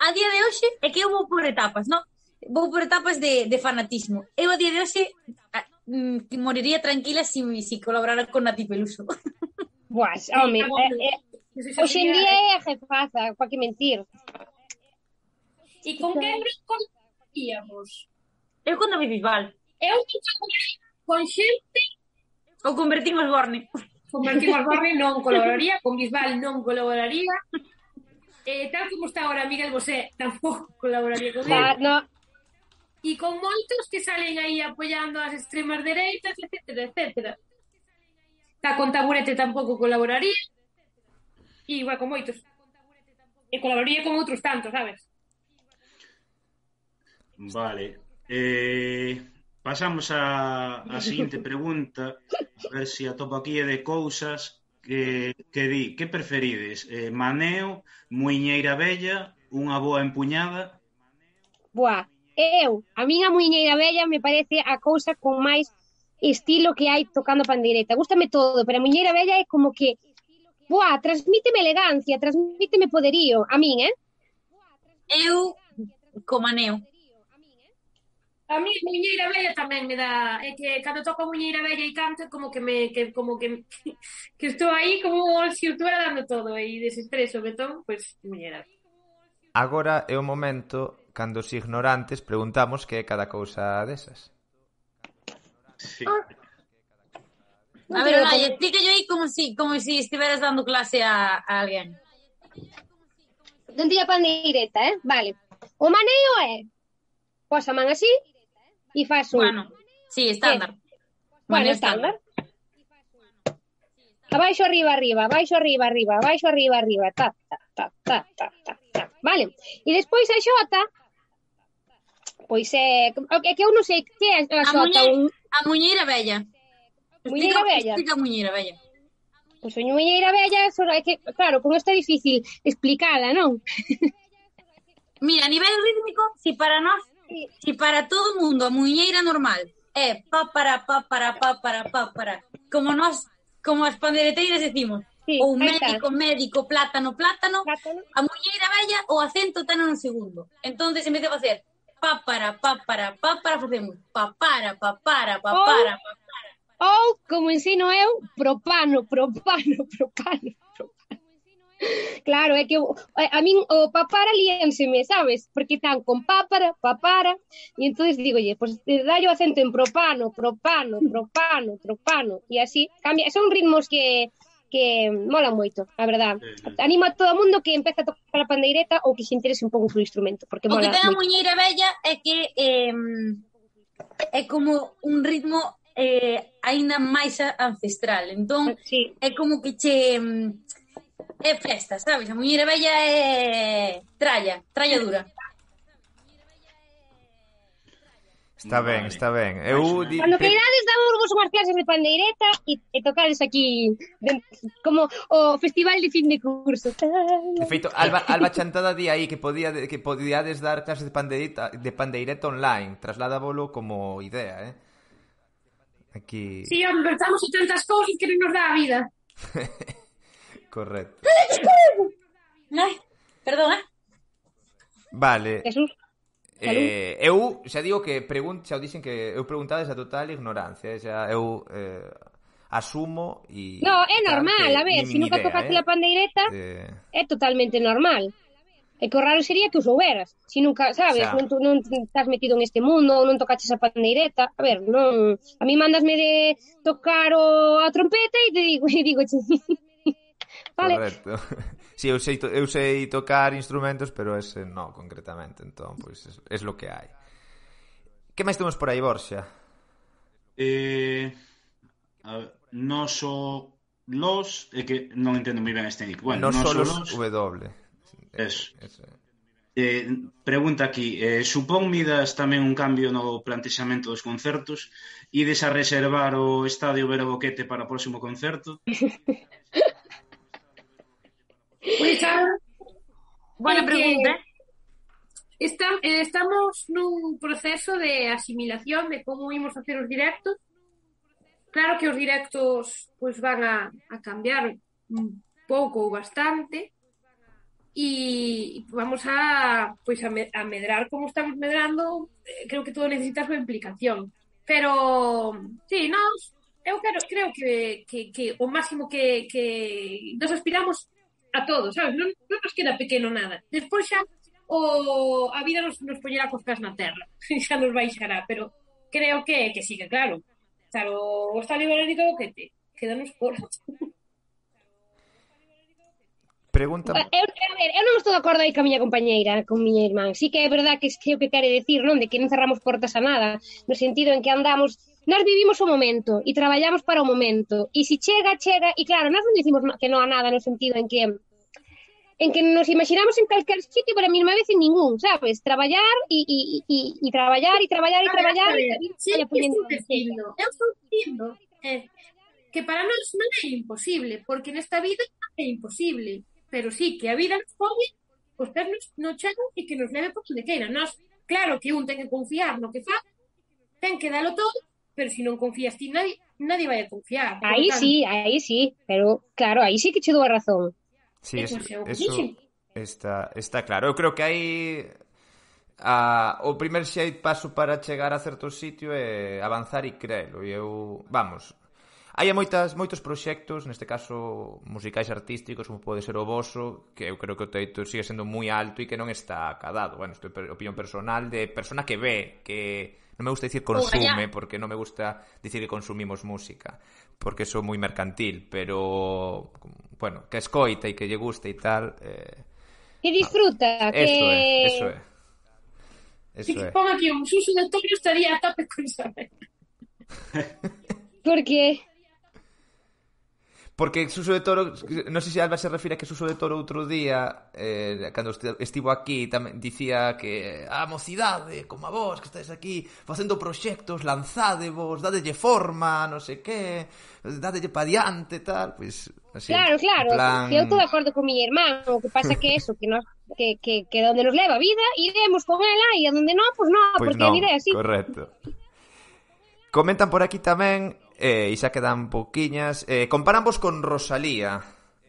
a día de hoxe, é que eu vou por etapas, non? Vou por etapas de fanatismo. Eu a día de hoxe moriría tranquila se colaborara con Nati Peluso. Buah, home, hoxe en día é a jefaza, para que mentir. E con quen colaboraríamos? Eu con David Bisbal. Eu con xente Ou convertimos Borne. convertimos Barry non colaboraría, con Bisbal non colaboraría, tal como está ahora Miguel Bosé tampouco colaboraría con él, No, e con moitos que salen aí apoiando as extremas dereitas, etcétera, etcétera. Con Taburete tampouco colaboraría, e igual con moitos. E colaboraría con outros tantos, sabes? Vale. Pasamos a seguinte pregunta, a ver se atopo aquí de cousas que di. Que preferides? Maneo, muiñeira vella, unha boa empuñada? buah, a miña muiñeira vella me parece a cousa con máis estilo que hai tocando pandeireta. Gústame todo, pero a muiñeira vella é como que, buah, transmíteme elegancia, transmíteme poderío. A min, Eu, como aneo. A mí Muñeira Bella tamén me dá, é que cando toco Muñeira Bella e canto como que que estou aí como se estuviera dando todo e desestreso, betón, pois Muñeira. Agora é o momento cando os ignorantes preguntamos que é cada cousa desas. Sí. A ver, Olaya, explíquello aí como si estiveras dando clase a alguén. Non tiña pandeireta, Vale. O maneo é, pos a man así e faz un... Bueno, sí, estándar. Bueno, estándar. Abaixo, arriba, arriba, abaixo, arriba, arriba, abaixo, arriba, arriba, ta, ta, ta, ta, ta, ta, ta. Vale. E despois a xota, pois é que eu non sei que é a xota. A muñeira vella. Muñeira vella. Explica a muñeira vella. Pois a muñeira vella, só é que, claro, con isto é difícil explicala, non? Mira, a nivel rítmico, si para todo o mundo a muñeira normal é pa para, como as pandeireteiras decimos, Sí, ou aí está. médico, plátano, Plátano. a muñeira vella o acento ten no segundo. Entonces, en vez de facer pa para, facemos pa para. Ou, como ensino eu, propano. Claro, é que a min o papara líanseme, sabes? Porque están con papara, e entonces digolle, pues dallo acento en propano, e así cambia. Son ritmos que molan moito, a verdad. Animo a todo o mundo que empece a tocar a pandeireta ou que se interese un pouco polo instrumento, porque O mola que ten a moito. muñeira vella é que é como un ritmo aínda máis ancestral. Entón, Sí. é como que che é festa, sabes? A muñeira vella é tralla dura. Está ben, Vale. está ben. Cando queirades damos vos unhas clases de pandeireta e tocades aquí como o festival de fin de curso. De feito, Alba Chantada di aí que podíades dar clases de pandeireta online. Trasládavolo como idea, Aquí... Sí, hombre, estamos en tantas cousas que non nos dá a vida. Correcto. Ai, perdón, Eh? Vale. Jesús. Eu xa digo que xa o dixen que eu preguntades a total ignorancia, xa eu asumo e No, é normal, a ver, se nunca tocaste a pandeireta, é totalmente normal. E que o raro sería que o souberas. Se nunca, sabes, Xa. non estás metido en este mundo ou non tocaches a pandeireta. A ver, non... A mí mandasme de tocar a trompeta e te digo, vale. Correcto. Si, eu sei tocar instrumentos, pero ese no, concretamente. Entón, pois, es lo que hai. Que máis temos por aí, Borxa? Los, é que non entendo moi ben este nick. Bueno, No solos W. Eso. Pregunta aquí, supón Midas tamén un cambio no plantexamento dos concertos? Ides a reservar o Estadio Vero Boquete para o próximo concerto? Pois Buena pregunta. Estamos nun proceso de asimilación de como imos facer os directos. Claro que os directos pois van a cambiar un pouco ou bastante e vamos a medrar como estamos medrando. Creo que todo necesita a súa implicación. Pero, sí, eu creo que o máximo que nos aspiramos a todos, sabes? Non nos queda pequeno nada. Despois xa a vida nos poñerá cos pés na terra. Xa nos baixará, pero creo que sí, que claro. Claro, o Estado Ibérico que quedanos por... Pregunta... A ver, eu non estou de acordo aí ca miña compañeira, con miña irmán. Sí que é verdad que é o que quere decir, non? De que non cerramos portas a nada, no sentido en que andamos... Nós vivimos o momento e traballamos para o momento. E se chega, chega... E claro, nós non dicimos que non a nada no sentido en que nos imaginamos en calquer sitio, pero a mesma vez en ningún, sabes? Traballar e traballar e traballar e traballar e a vida sí, vaya poñendo... eu estou dicindo que para nós non é imposible, porque nesta vida é imposible, pero sí que a vida nos pode os pés no chão e que nos leve por onde queira. Nós, claro que un ten que confiar no que fa, ten que dalo todo, pero se non confías ti, nadie vai a confiar. Aí sí, pero claro, aí sí que che dou a razón. Sí, eso está claro. Eu creo que aí o primer paso para chegar a certo sitio é avanzar e crelo. E eu, vamos, hai moitos proxectos, neste caso musicais artísticos, como pode ser o voso, que eu creo que o teito sigue sendo moi alto e que non está acadado. Bueno, isto é opinión personal de persona que ve, que non me gusta dicir consume, porque non me gusta dicir que consumimos música, porque sou moi mercantil, pero, bueno, que escoita e que lle guste e tal... que disfruta, no. Eso é. Si que pon aquí un Suso de Toro estaría a tope con saber. Por qué? Porque Suso de Toro, non sei se Alba se refire a que Suso de Toro outro día, cando estivo aquí, tamén dicía que a mocidade, como a vos, que estáis aquí facendo proxectos, lanzádevos, dadelle forma, non sei que, dadelle pa diante, tal, pois... Así, claro, plan... que eu estou de acordo con miña irmán, o que pasa que eso, que donde nos leva a vida, iremos con ela, e a donde non, pues non, porque a vida é así. Correcto. Comentan por aquí tamén, e xa quedan pouquiñas, comparamos con Rosalía,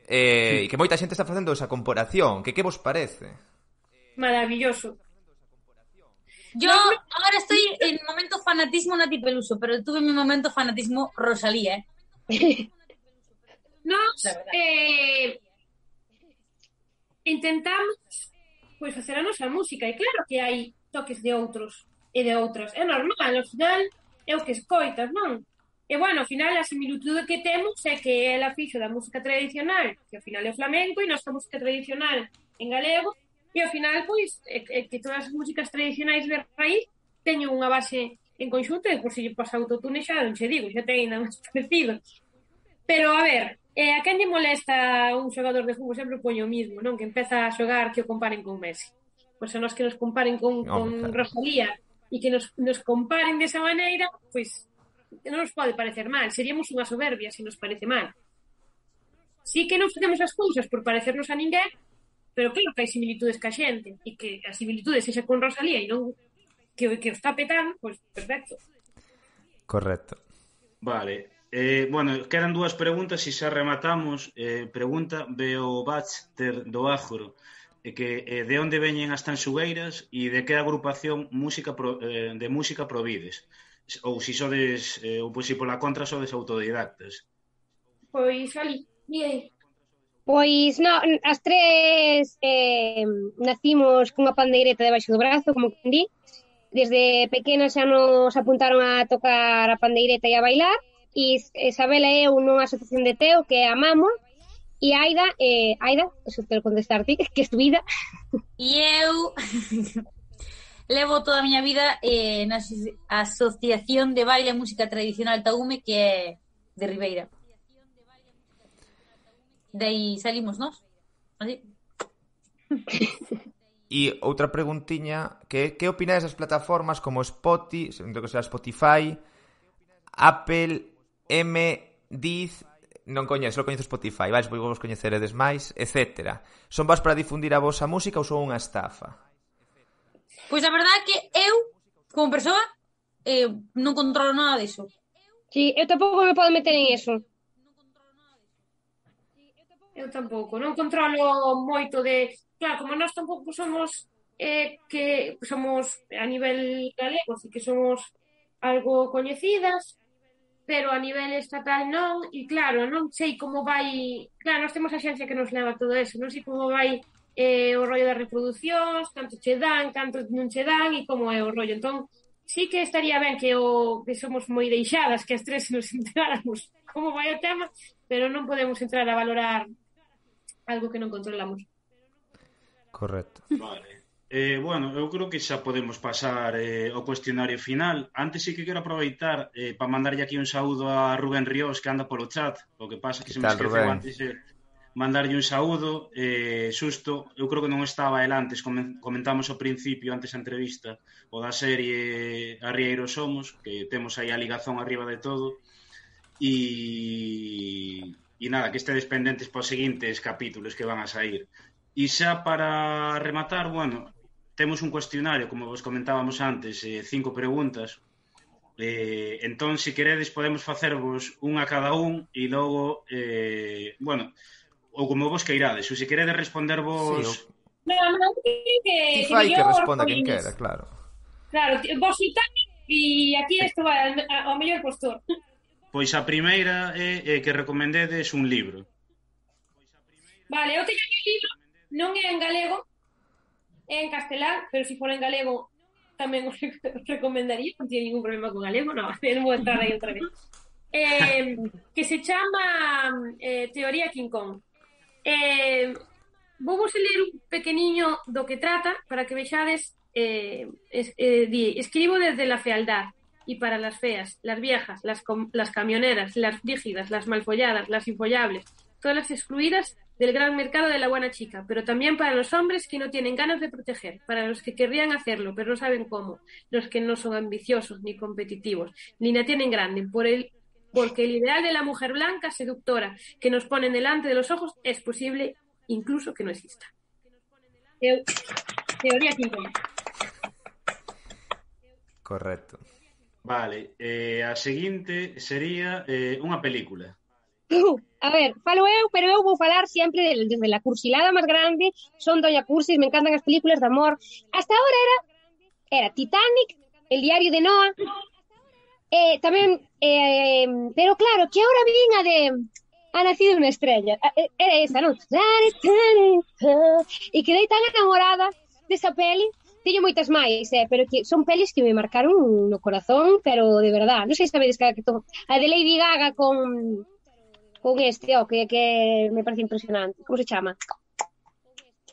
e que moita xente está facendo esa comparación, que vos parece? Maravilloso. Yo ahora estoy en momento fanatismo Nati Peluso, pero tuve mi momento fanatismo Rosalía, Nos intentamos pois facer a nosa música, e claro que hai toques de outros e de outras, é normal, ao final é o que escoitas, non? E bueno, ao final a similitude que temos é que ela fixo da música tradicional, que ao final é o flamenco, e nosa música tradicional en galego, e ao final, pois, que todas as músicas tradicionais de raíz teñen unha base en conxunto, e por se lle pasa autotune xa non che digo, xa ten ainda máis parecido. Pero, a ver, a quen lle molesta un xogador de fútbol? Sempre poño o mismo, non? Que empeza a xogar que o comparen con Messi. Pois a nós que nos comparen con Rosalía e que nos comparen desa maneira, pois non nos pode parecer mal. Seríamos unha soberbia se nos parece mal. Sí que non facemos as cousas por parecernos a ninguén, pero claro que hai similitudes ca xente, e que as similitudes sexa con Rosalía e non que o está petando, pois perfecto. Correcto. Vale. Bueno, quedan dúas preguntas e xa rematamos. Pregunta Beo Baxter do Ágoro, que de onde veñen as tanxugueiras e de que agrupación de música provides, ou se sodes ou pois se pola contra sodes autodidactas. Pois ali, bien. Pois no, as tres nacimos cunha pandeireta debaixo do brazo, como que di. Desde pequenas xa nos apuntaron a tocar a pandeireta e a bailar, e Isabela e eu nunha asociación de Teo que amamos, e Aida, eso te lo contestar ti, que es tu vida. E eu levo toda a miña vida na Asociación de Baile e Música Tradicional Taume, que é de Ribeira. De aí salimos nós. Así. E outra preguntiña, que opináis das plataformas como Spotify, Apple, Diz, non coñezo Spotify, vais, vos coñeceredes máis, etc. Son vos para difundir a vosa música ou son unha estafa? Pois a verdade é que eu, como persoa, non controlo nada diso. Sí, eu tampouco me podo meter en eso. Eu tampouco, non controlo moito de... Claro, como nós tampouco somos que somos a nivel galego, así que somos algo coñecidas, pero a nivel estatal non, e claro, non sei como vai... Claro, nós temos a xencia que nos leva todo eso, non sei como vai o rollo das reproduccións, canto che dan, canto non che dan, e como é o rollo. Entón, sí que estaría ben que somos moi deixadas, que as tres nos enteráramos como vai o tema, pero non podemos entrar a valorar algo que non controlamos. Correcto. Vale. Bueno, eu creo que xa podemos pasar ao cuestionario final. Antes sí que quero aproveitar para mandarlle aquí un saúdo a Rubén Ríos, que anda polo chat. O que pasa que se me esqueceu antes mandarlle un saúdo. Susto, eu creo que non estaba el antes, comentamos ao principio, antes da entrevista, o da serie Arrieiros Somos, que temos aí a ligazón arriba de todo. E nada, que estedes pendentes para os seguintes capítulos que van a sair. E xa para rematar, bueno, temos un cuestionario, como vos comentábamos antes, 5 preguntas. Entón, se queredes, podemos facervos unha a cada un e logo, bueno, ou como vos queirades. Ou se queredes responder vos... Sí, Non, que fai que responda quen quera, claro. Claro, vos Titanic e aquí isto vai ao mellor postor. Pois a primeira é que recomendedes un libro. Vale, eu teño un libro, non é en galego, é en castelán, pero se for en galego tamén os recomendaría, non tiene ningún problema con galego, non vou entrar aí outra vez. Que se chama Teoría King Kong. Vou ler un pequeniño do que trata para que vexades. Escribo desde la fealdad y para las feas, las viejas, las camioneras, las rígidas, las malfolladas, las infollables, todas las excluidas del gran mercado de la buena chica, pero también para los hombres que no tienen ganas de proteger, para los que querrían hacerlo, pero no saben cómo, los que no son ambiciosos ni competitivos, ni la tienen grande, porque el ideal de la mujer blanca, seductora, que nos ponen delante de los ojos, es posible incluso que no exista. Teoría King Kong. Correcto. Vale, a seguinte sería unha película. A ver, falo eu, pero eu vou falar sempre desde la cursilada máis grande. Son Doña Cursis, me encantan as películas de amor. Hasta ahora era Titanic, El diario de Noah, tamén, pero claro, que ahora vin a de Ha nacido unha estrella. Era esa, non? E quedei tan enamorada desa peli. Teño moitas máis, pero que son pelis que me marcaron no corazón, pero de verdad. Non sei se sabedes que a de Lady Gaga con este, que me parece impresionante. Como se chama?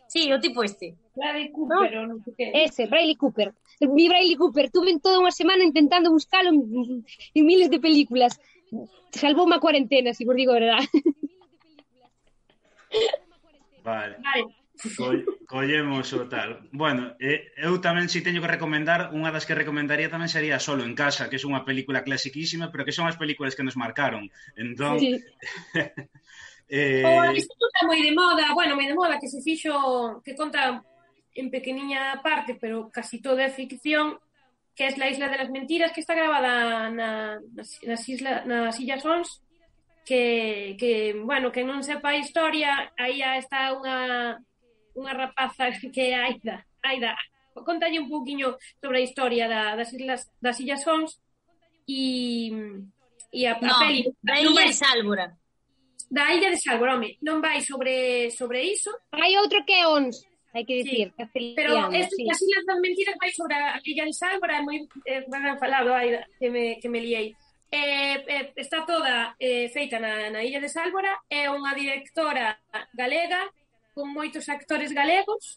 Sí, o tipo este. Bradley Cooper, non sei que. Ese, Bradley Cooper. Mi Bradley Cooper. Tuve toda unha semana intentando buscalo en miles de películas. Salvou unha cuarentena, si vos digo a verdade. Vale. Collemos o tal. Bueno, eu tamén si teño que recomendar, unha das que recomendaría tamén sería Solo en casa, que é unha película clasiquísima, pero que son as películas que nos marcaron. Entón... Sí. Isto está moi de moda, moi de moda, que se fixo, que conta en pequeniña parte, pero casi toda é ficción, que é La Isla de las Mentiras, que está grabada nas Illas Ons, que bueno, que non sepa a historia, aí está unha rapaza que é Aida, contalle un pouquiño sobre a historia das Illas Ons e a peli da Illa de Sálvora. Da Illa de Sálvora, home, non vai sobre iso. Hai outro que é Ons, hai que dicir, sí. Pero as Illas das Mentiras vai sobre a Illa de Sálvora, é moi ben falado, Aida, que me liei. Está toda feita na Illa de Sálvora, é unha directora galega con moitos actores galegos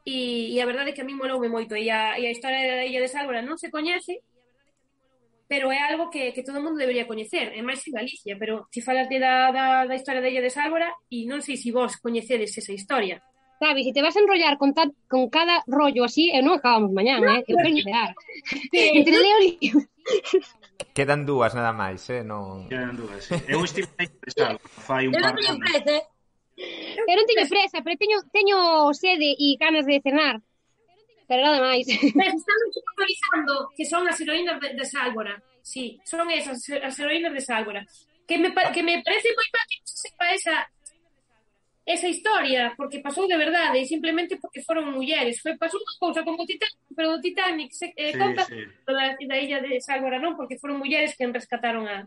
e a verdade é que a mí moloume moito e a historia da Illa de Sálvora non se coñece, pero é algo que todo o mundo debería coñecer, é máis en Galicia, pero se falas da historia da Illa de Sálvora e non sei se vos coñecedes esa historia. Sabes, se te vas a enrollar con cada rollo así, non acabamos mañán, eu quero idear. Entre leo libro. Quedan dúas nada máis, non... Quedan dúas, sí. Eu estive aí, fai un par de anos. Eu non teño presa, pero teño sede e ganas de cenar. Pero nada máis. Están actualizando que son as heroínas de Sálvora. Sí, son esas, as heroínas de Sálvora. Que me parece moi mal que se sepa esa historia, porque pasou de verdade e simplemente porque foron mulleres. Pasou unha cousa como Titanic, pero o Titanic conta da Illa de Sálvora non, porque foron mulleres que rescataron a...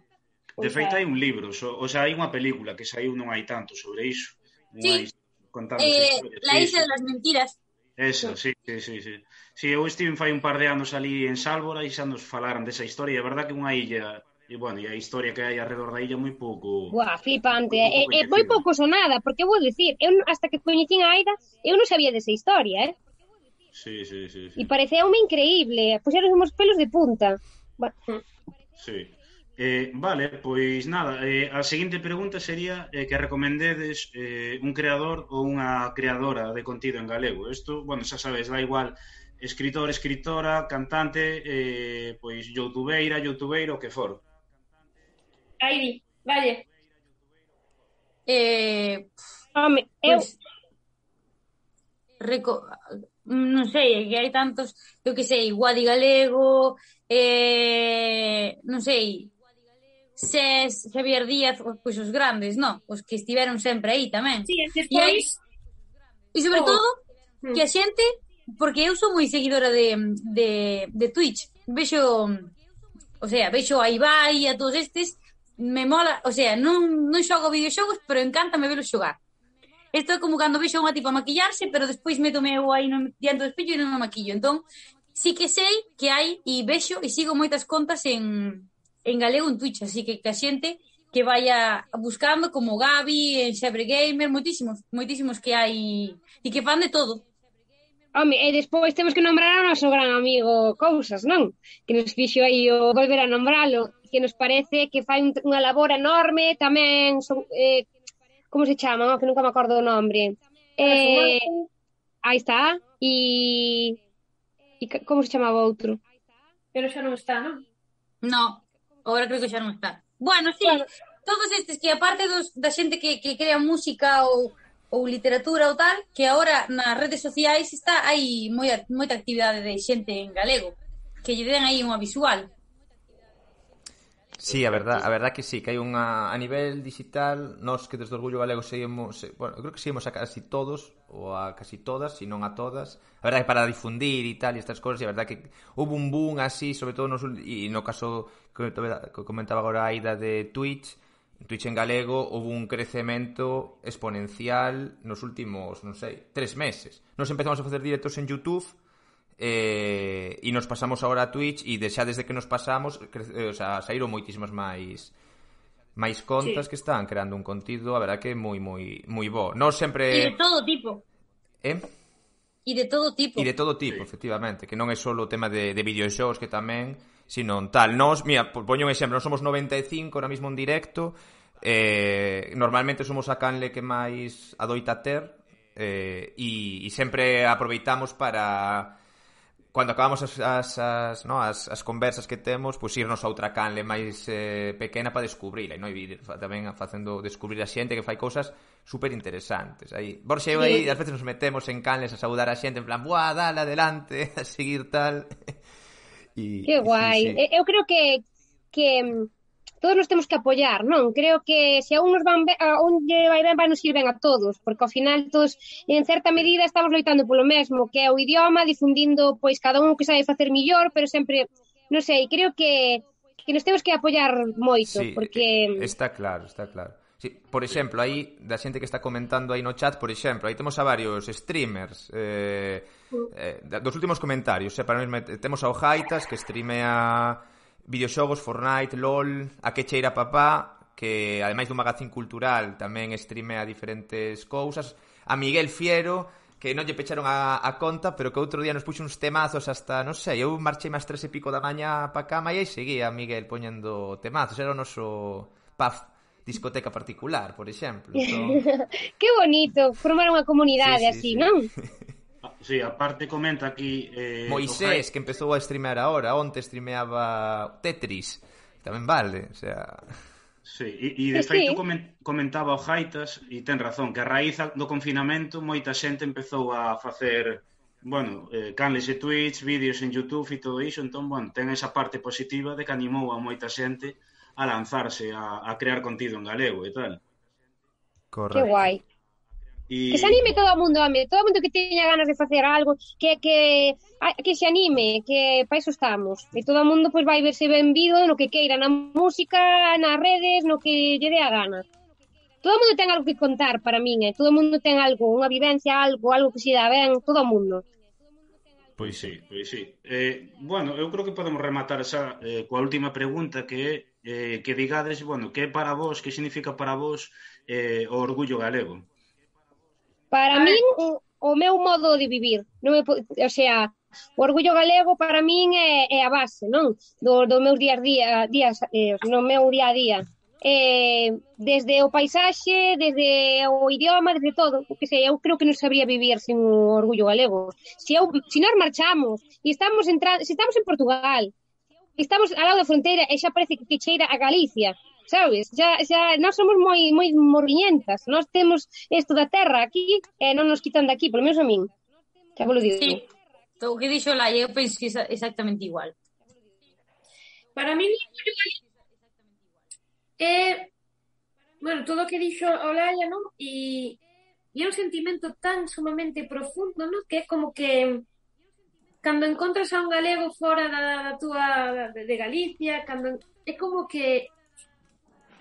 De feito hai un libro, o sea, hai unha película que saiu non hai tanto sobre iso. Sí, La Isla de las Mentiras. Eso, sí. Si, eu estive fai un par de anos ali en Sálvora e xa nos falaran desa historia. É verdad que unha illa, e, bueno, e a historia que hai alrededor da illa Buah, flipante. moi pouco É moi coñecida. pouco sonada, porque vou dicir, hasta que coñecín a Aida, eu non sabía desa historia, Sí. E pareceume increíble. Puxeron os pelos de punta. Sí. Vale, pois nada, a seguinte pregunta sería que recomendedes un creador ou unha creadora de contido en galego. Isto, bueno, xa sabes, dá igual escritor, escritora, cantante, pois youtubeiro, o que for. Aí, valle. Home, eu... Pois, non sei, que hai tantos, eu que sei, Guadi Galego, non sei, Ses, Javier Díaz, pois os grandes, non? Os que estiveron sempre aí tamén. Sí, E hai, despois... e sobre Oh. todo, que a xente, porque eu sou moi seguidora de Twitch, vexo, o sea, vexo a Ibai e a todos estes, me mola, o sea, non xogo videoxogos, pero encántame velo xogar. Isto é como cando vexo a unha tipa maquillarse, pero despois meto eu aí diante do espello e non me maquillo. Entón, sí que sei que hai e vexo e sigo moitas contas en galego en Twitch, así que a xente que vaya buscando como Gabi, en Xebre Gamer, moitísimos que hai e que fan de todo. Home, e despois temos que nombrar ao noso gran amigo Cousas, non? Que nos fixo aí o volver a nombralo, que nos parece que fai unha labor enorme, tamén son, como se chama, que nunca me acordo o nombre. Aí está. E como se chamaba outro? Pero xa non está, non? No, agora creo que xa non está. Bueno, sí, Claro. todos estes que aparte da xente que crea música ou literatura ou tal, que agora nas redes sociais hai moita actividade de xente en galego, que lle den aí unha visual. Sí, a verdad que sí, que hai unha a nivel digital, nós que desde Orgullo Galego seguimos, bueno, eu creo que seguimos a casi todos ou a casi todas, se non a todas. A verdade que para difundir e tal e estas cousas, e a verdade que houve un boom así, sobre todo e no caso que comentaba agora a Aida de Twitch en galego, houve un crecemento exponencial nos últimos, non sei, 3 meses. Nos empezamos a facer directos en YouTube, e nos pasamos agora a Twitch e xa desde que nos pasamos saíron moitísimas máis contas que están creando un contido, a verdad que moi bo. Nós sempre... E de todo tipo. E de todo tipo, efectivamente, que non é só o tema de videoxogos, que tamén, sino tal. Nós, mira, poño un exemplo, nós somos 95 ahora mismo en directo, normalmente somos a canle que máis adoita ter, e sempre aproveitamos para... Cando acabamos as conversas que temos, pois irnos a outra canle máis pequena para descubrila, e non ir tamén facendo descubrir a xente que fai cousas super interesantes. Aí, Borxe, aí ás veces nos metemos en canles a saudar a xente en plan, buah, dale adelante, a seguir tal. Que guai. Sí. Eu creo que todos nos temos que apoiar, non? Creo que se a un nos van ben, a un lle vai ben, vai nos ir ben a todos, porque ao final todos, en certa medida, estamos loitando polo mesmo, que é o idioma, difundindo, pois, cada un que sabe facer millor, pero sempre, non sei, creo que nos temos que apoiar moito, Sí, porque... está claro. Sí, por exemplo, aí, da xente que está comentando aí no chat, por exemplo, aí temos a varios streamers, dos últimos comentarios, para mesmo, temos ao Jaitas, que streamea videoxogos, Fortnite, LOL, a que cheira papá, que ademais dun magazín cultural tamén streamea diferentes cousas, a Miguel Fiero, que non lle pecharon a conta, pero que outro día nos puxo uns temazos hasta, non sei, eu marchei máis 3 e pico da mañá pa cama e aí seguía Miguel poñendo temazos, era o noso paz discoteca particular, por exemplo. Entón... Que bonito, formar unha comunidade así, non? Sí, aparte comenta aquí... Moisés, que empezou a streamear ahora, onte streameaba Tetris, tamén vale, o sea... Sí, e de feito comentaba o Jaitas, e ten razón, que a raíz do confinamento moita xente empezou a facer, bueno, canles de Twitch, vídeos en YouTube e todo iso, entón, bueno, ten esa parte positiva de que animou a moita xente a lanzarse a crear contido en galego e tal. Correcto. Que guai. Que se anime todo o mundo, home, todo o mundo que teña ganas de facer algo, que se anime, que para iso estamos. E todo o mundo pois vai verse benvido no que queira, na música, nas redes, no que lle dé a gana. todo o mundo ten algo que contar para min, todo o mundo ten algo, unha vivencia, algo que se dá ben, todo o mundo. Pois sí, pois sí. Bueno, eu creo que podemos rematar esa coa última pregunta que é que digades, bueno, que é para vos, que significa para vos o orgullo galego? Para min, o meu modo de vivir, non me, o sea, o orgullo galego para min é a base, non? Do meu no meu día a día. Desde o paisaxe, desde o idioma, desde todo, porque sei, eu creo que non sabría vivir sin o orgullo galego. Se nós marchamos e estamos entrando, se estamos en Portugal, estamos ao lado da fronteira e xa parece que cheira a Galicia, sabes? Xa nós somos moi morriñentas, nós temos isto da terra aquí e non nos quitan de aquí, polo menos a min. Xa vos lo digo. Sí, o que dixo Laia, eu penso que é exactamente igual. Para mí, bueno, todo o que dixo Olaya, non? E é un sentimento tan sumamente profundo, non? Que é como que cando encontras a un galego fora da túa de Galicia, é como que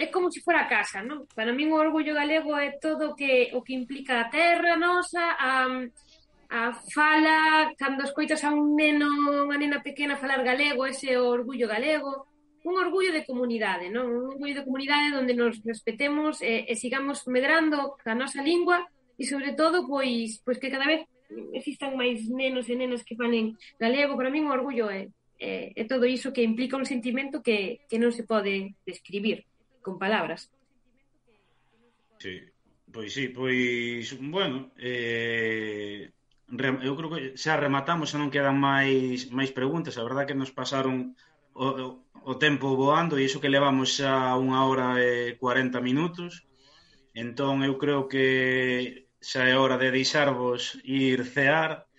é como se fora a casa, non? Para min o orgullo galego é todo o que implica a terra nosa, a fala, cando escoitas a un neno, unha nena pequena falar galego, ese é o orgullo galego. Un orgullo de comunidade, non? Un orgullo de comunidade onde nos respetemos e sigamos medrando a nosa lingua e, sobre todo, pois que cada vez existan máis nenos e nenas que falen galego. Para min o orgullo é todo iso que implica un sentimento que non se pode describir con palabras. Sí, bueno, eu creo que xa rematamos, xa non quedan máis preguntas. A verdade que nos pasaron o tempo voando e iso que levamos xa 1 hora e 40 minutos. Entón eu creo que xa é hora de deixarvos ir cear.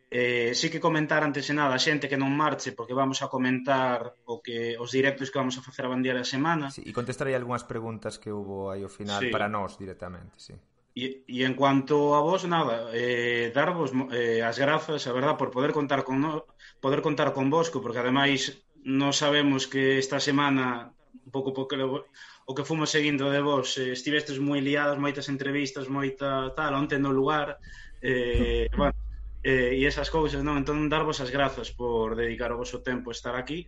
Sí que comentar antes de nada a xente que non marche, porque vamos a comentar os directos que vamos a facer a bandeira da semana. Sí, e contestar aí algunhas preguntas que hubo aí ao final, sí, para nós directamente, sí. E en cuanto a vos, nada, darvos as grazas, a verdad, por poder contar con vosco, porque ademais non sabemos que esta semana, un pouco o que fomos seguindo de vos, estivestes moi liadas, moitas entrevistas, moita tal, onte no lugar, bueno, e esas cousas, non? Entón, darvos as grazas por dedicar o vosso tempo a estar aquí.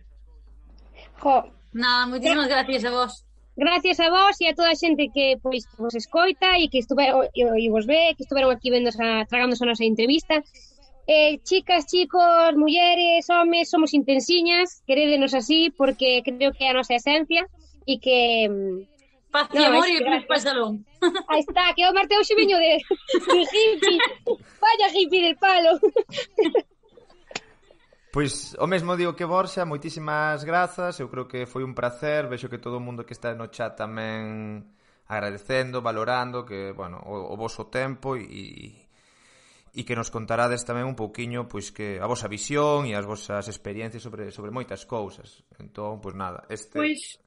Nada, moitísimas gracias a vos. Gracias a vos e a toda a xente que pois vos escoita e que estuveron e vos ve, que estuveron aquí tragándose a nosa entrevista. Chicas, chicos, mulleres, homes, somos intensiñas, querédenos así porque creo que é a nosa esencia e que paz e amor e cruz para o salón. Aí está, que o Marte hoxe veño de hippie. Vaya hippie del palo. Pois o mesmo digo que Borxa, moitísimas grazas, eu creo que foi un placer, vexo que todo o mundo que está no chat tamén agradecendo, valorando que, bueno, o voso tempo e que nos contarades tamén un pouquiño pois que a vosa visión e as vosas experiencias sobre moitas cousas. Entón, pois nada, Pois,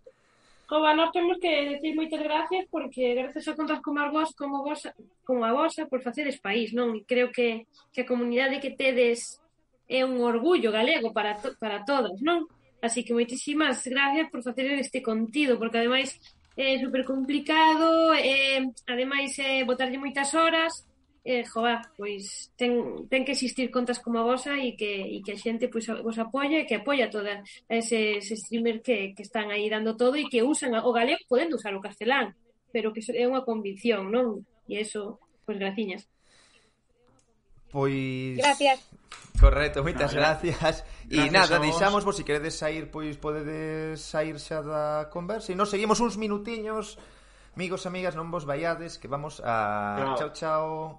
nós temos que decir moitas gracias porque gracias a contas como a vosa por facedes país, non? E creo que a comunidade que tedes é un orgullo galego para todos, non? Así que moitísimas gracias por facer este contido, porque ademais é super complicado, ademais botarlle moitas horas, pois ten que existir contas como a vosa e que a xente pois vos apoia e que apoia toda eses streamers que están aí dando todo e que usan o galego podendo usar o castelán, pero que é unha convicción, non? E eso, pois graciñas. Pois... Gracias. Correcto, moitas gracias. E nada, deixámosvos, se queredes sair, pois podedes sair xa da conversa e nos seguimos uns minutiños. Amigos, amigas, non vos vaiades, que vamos a... Chao, chao.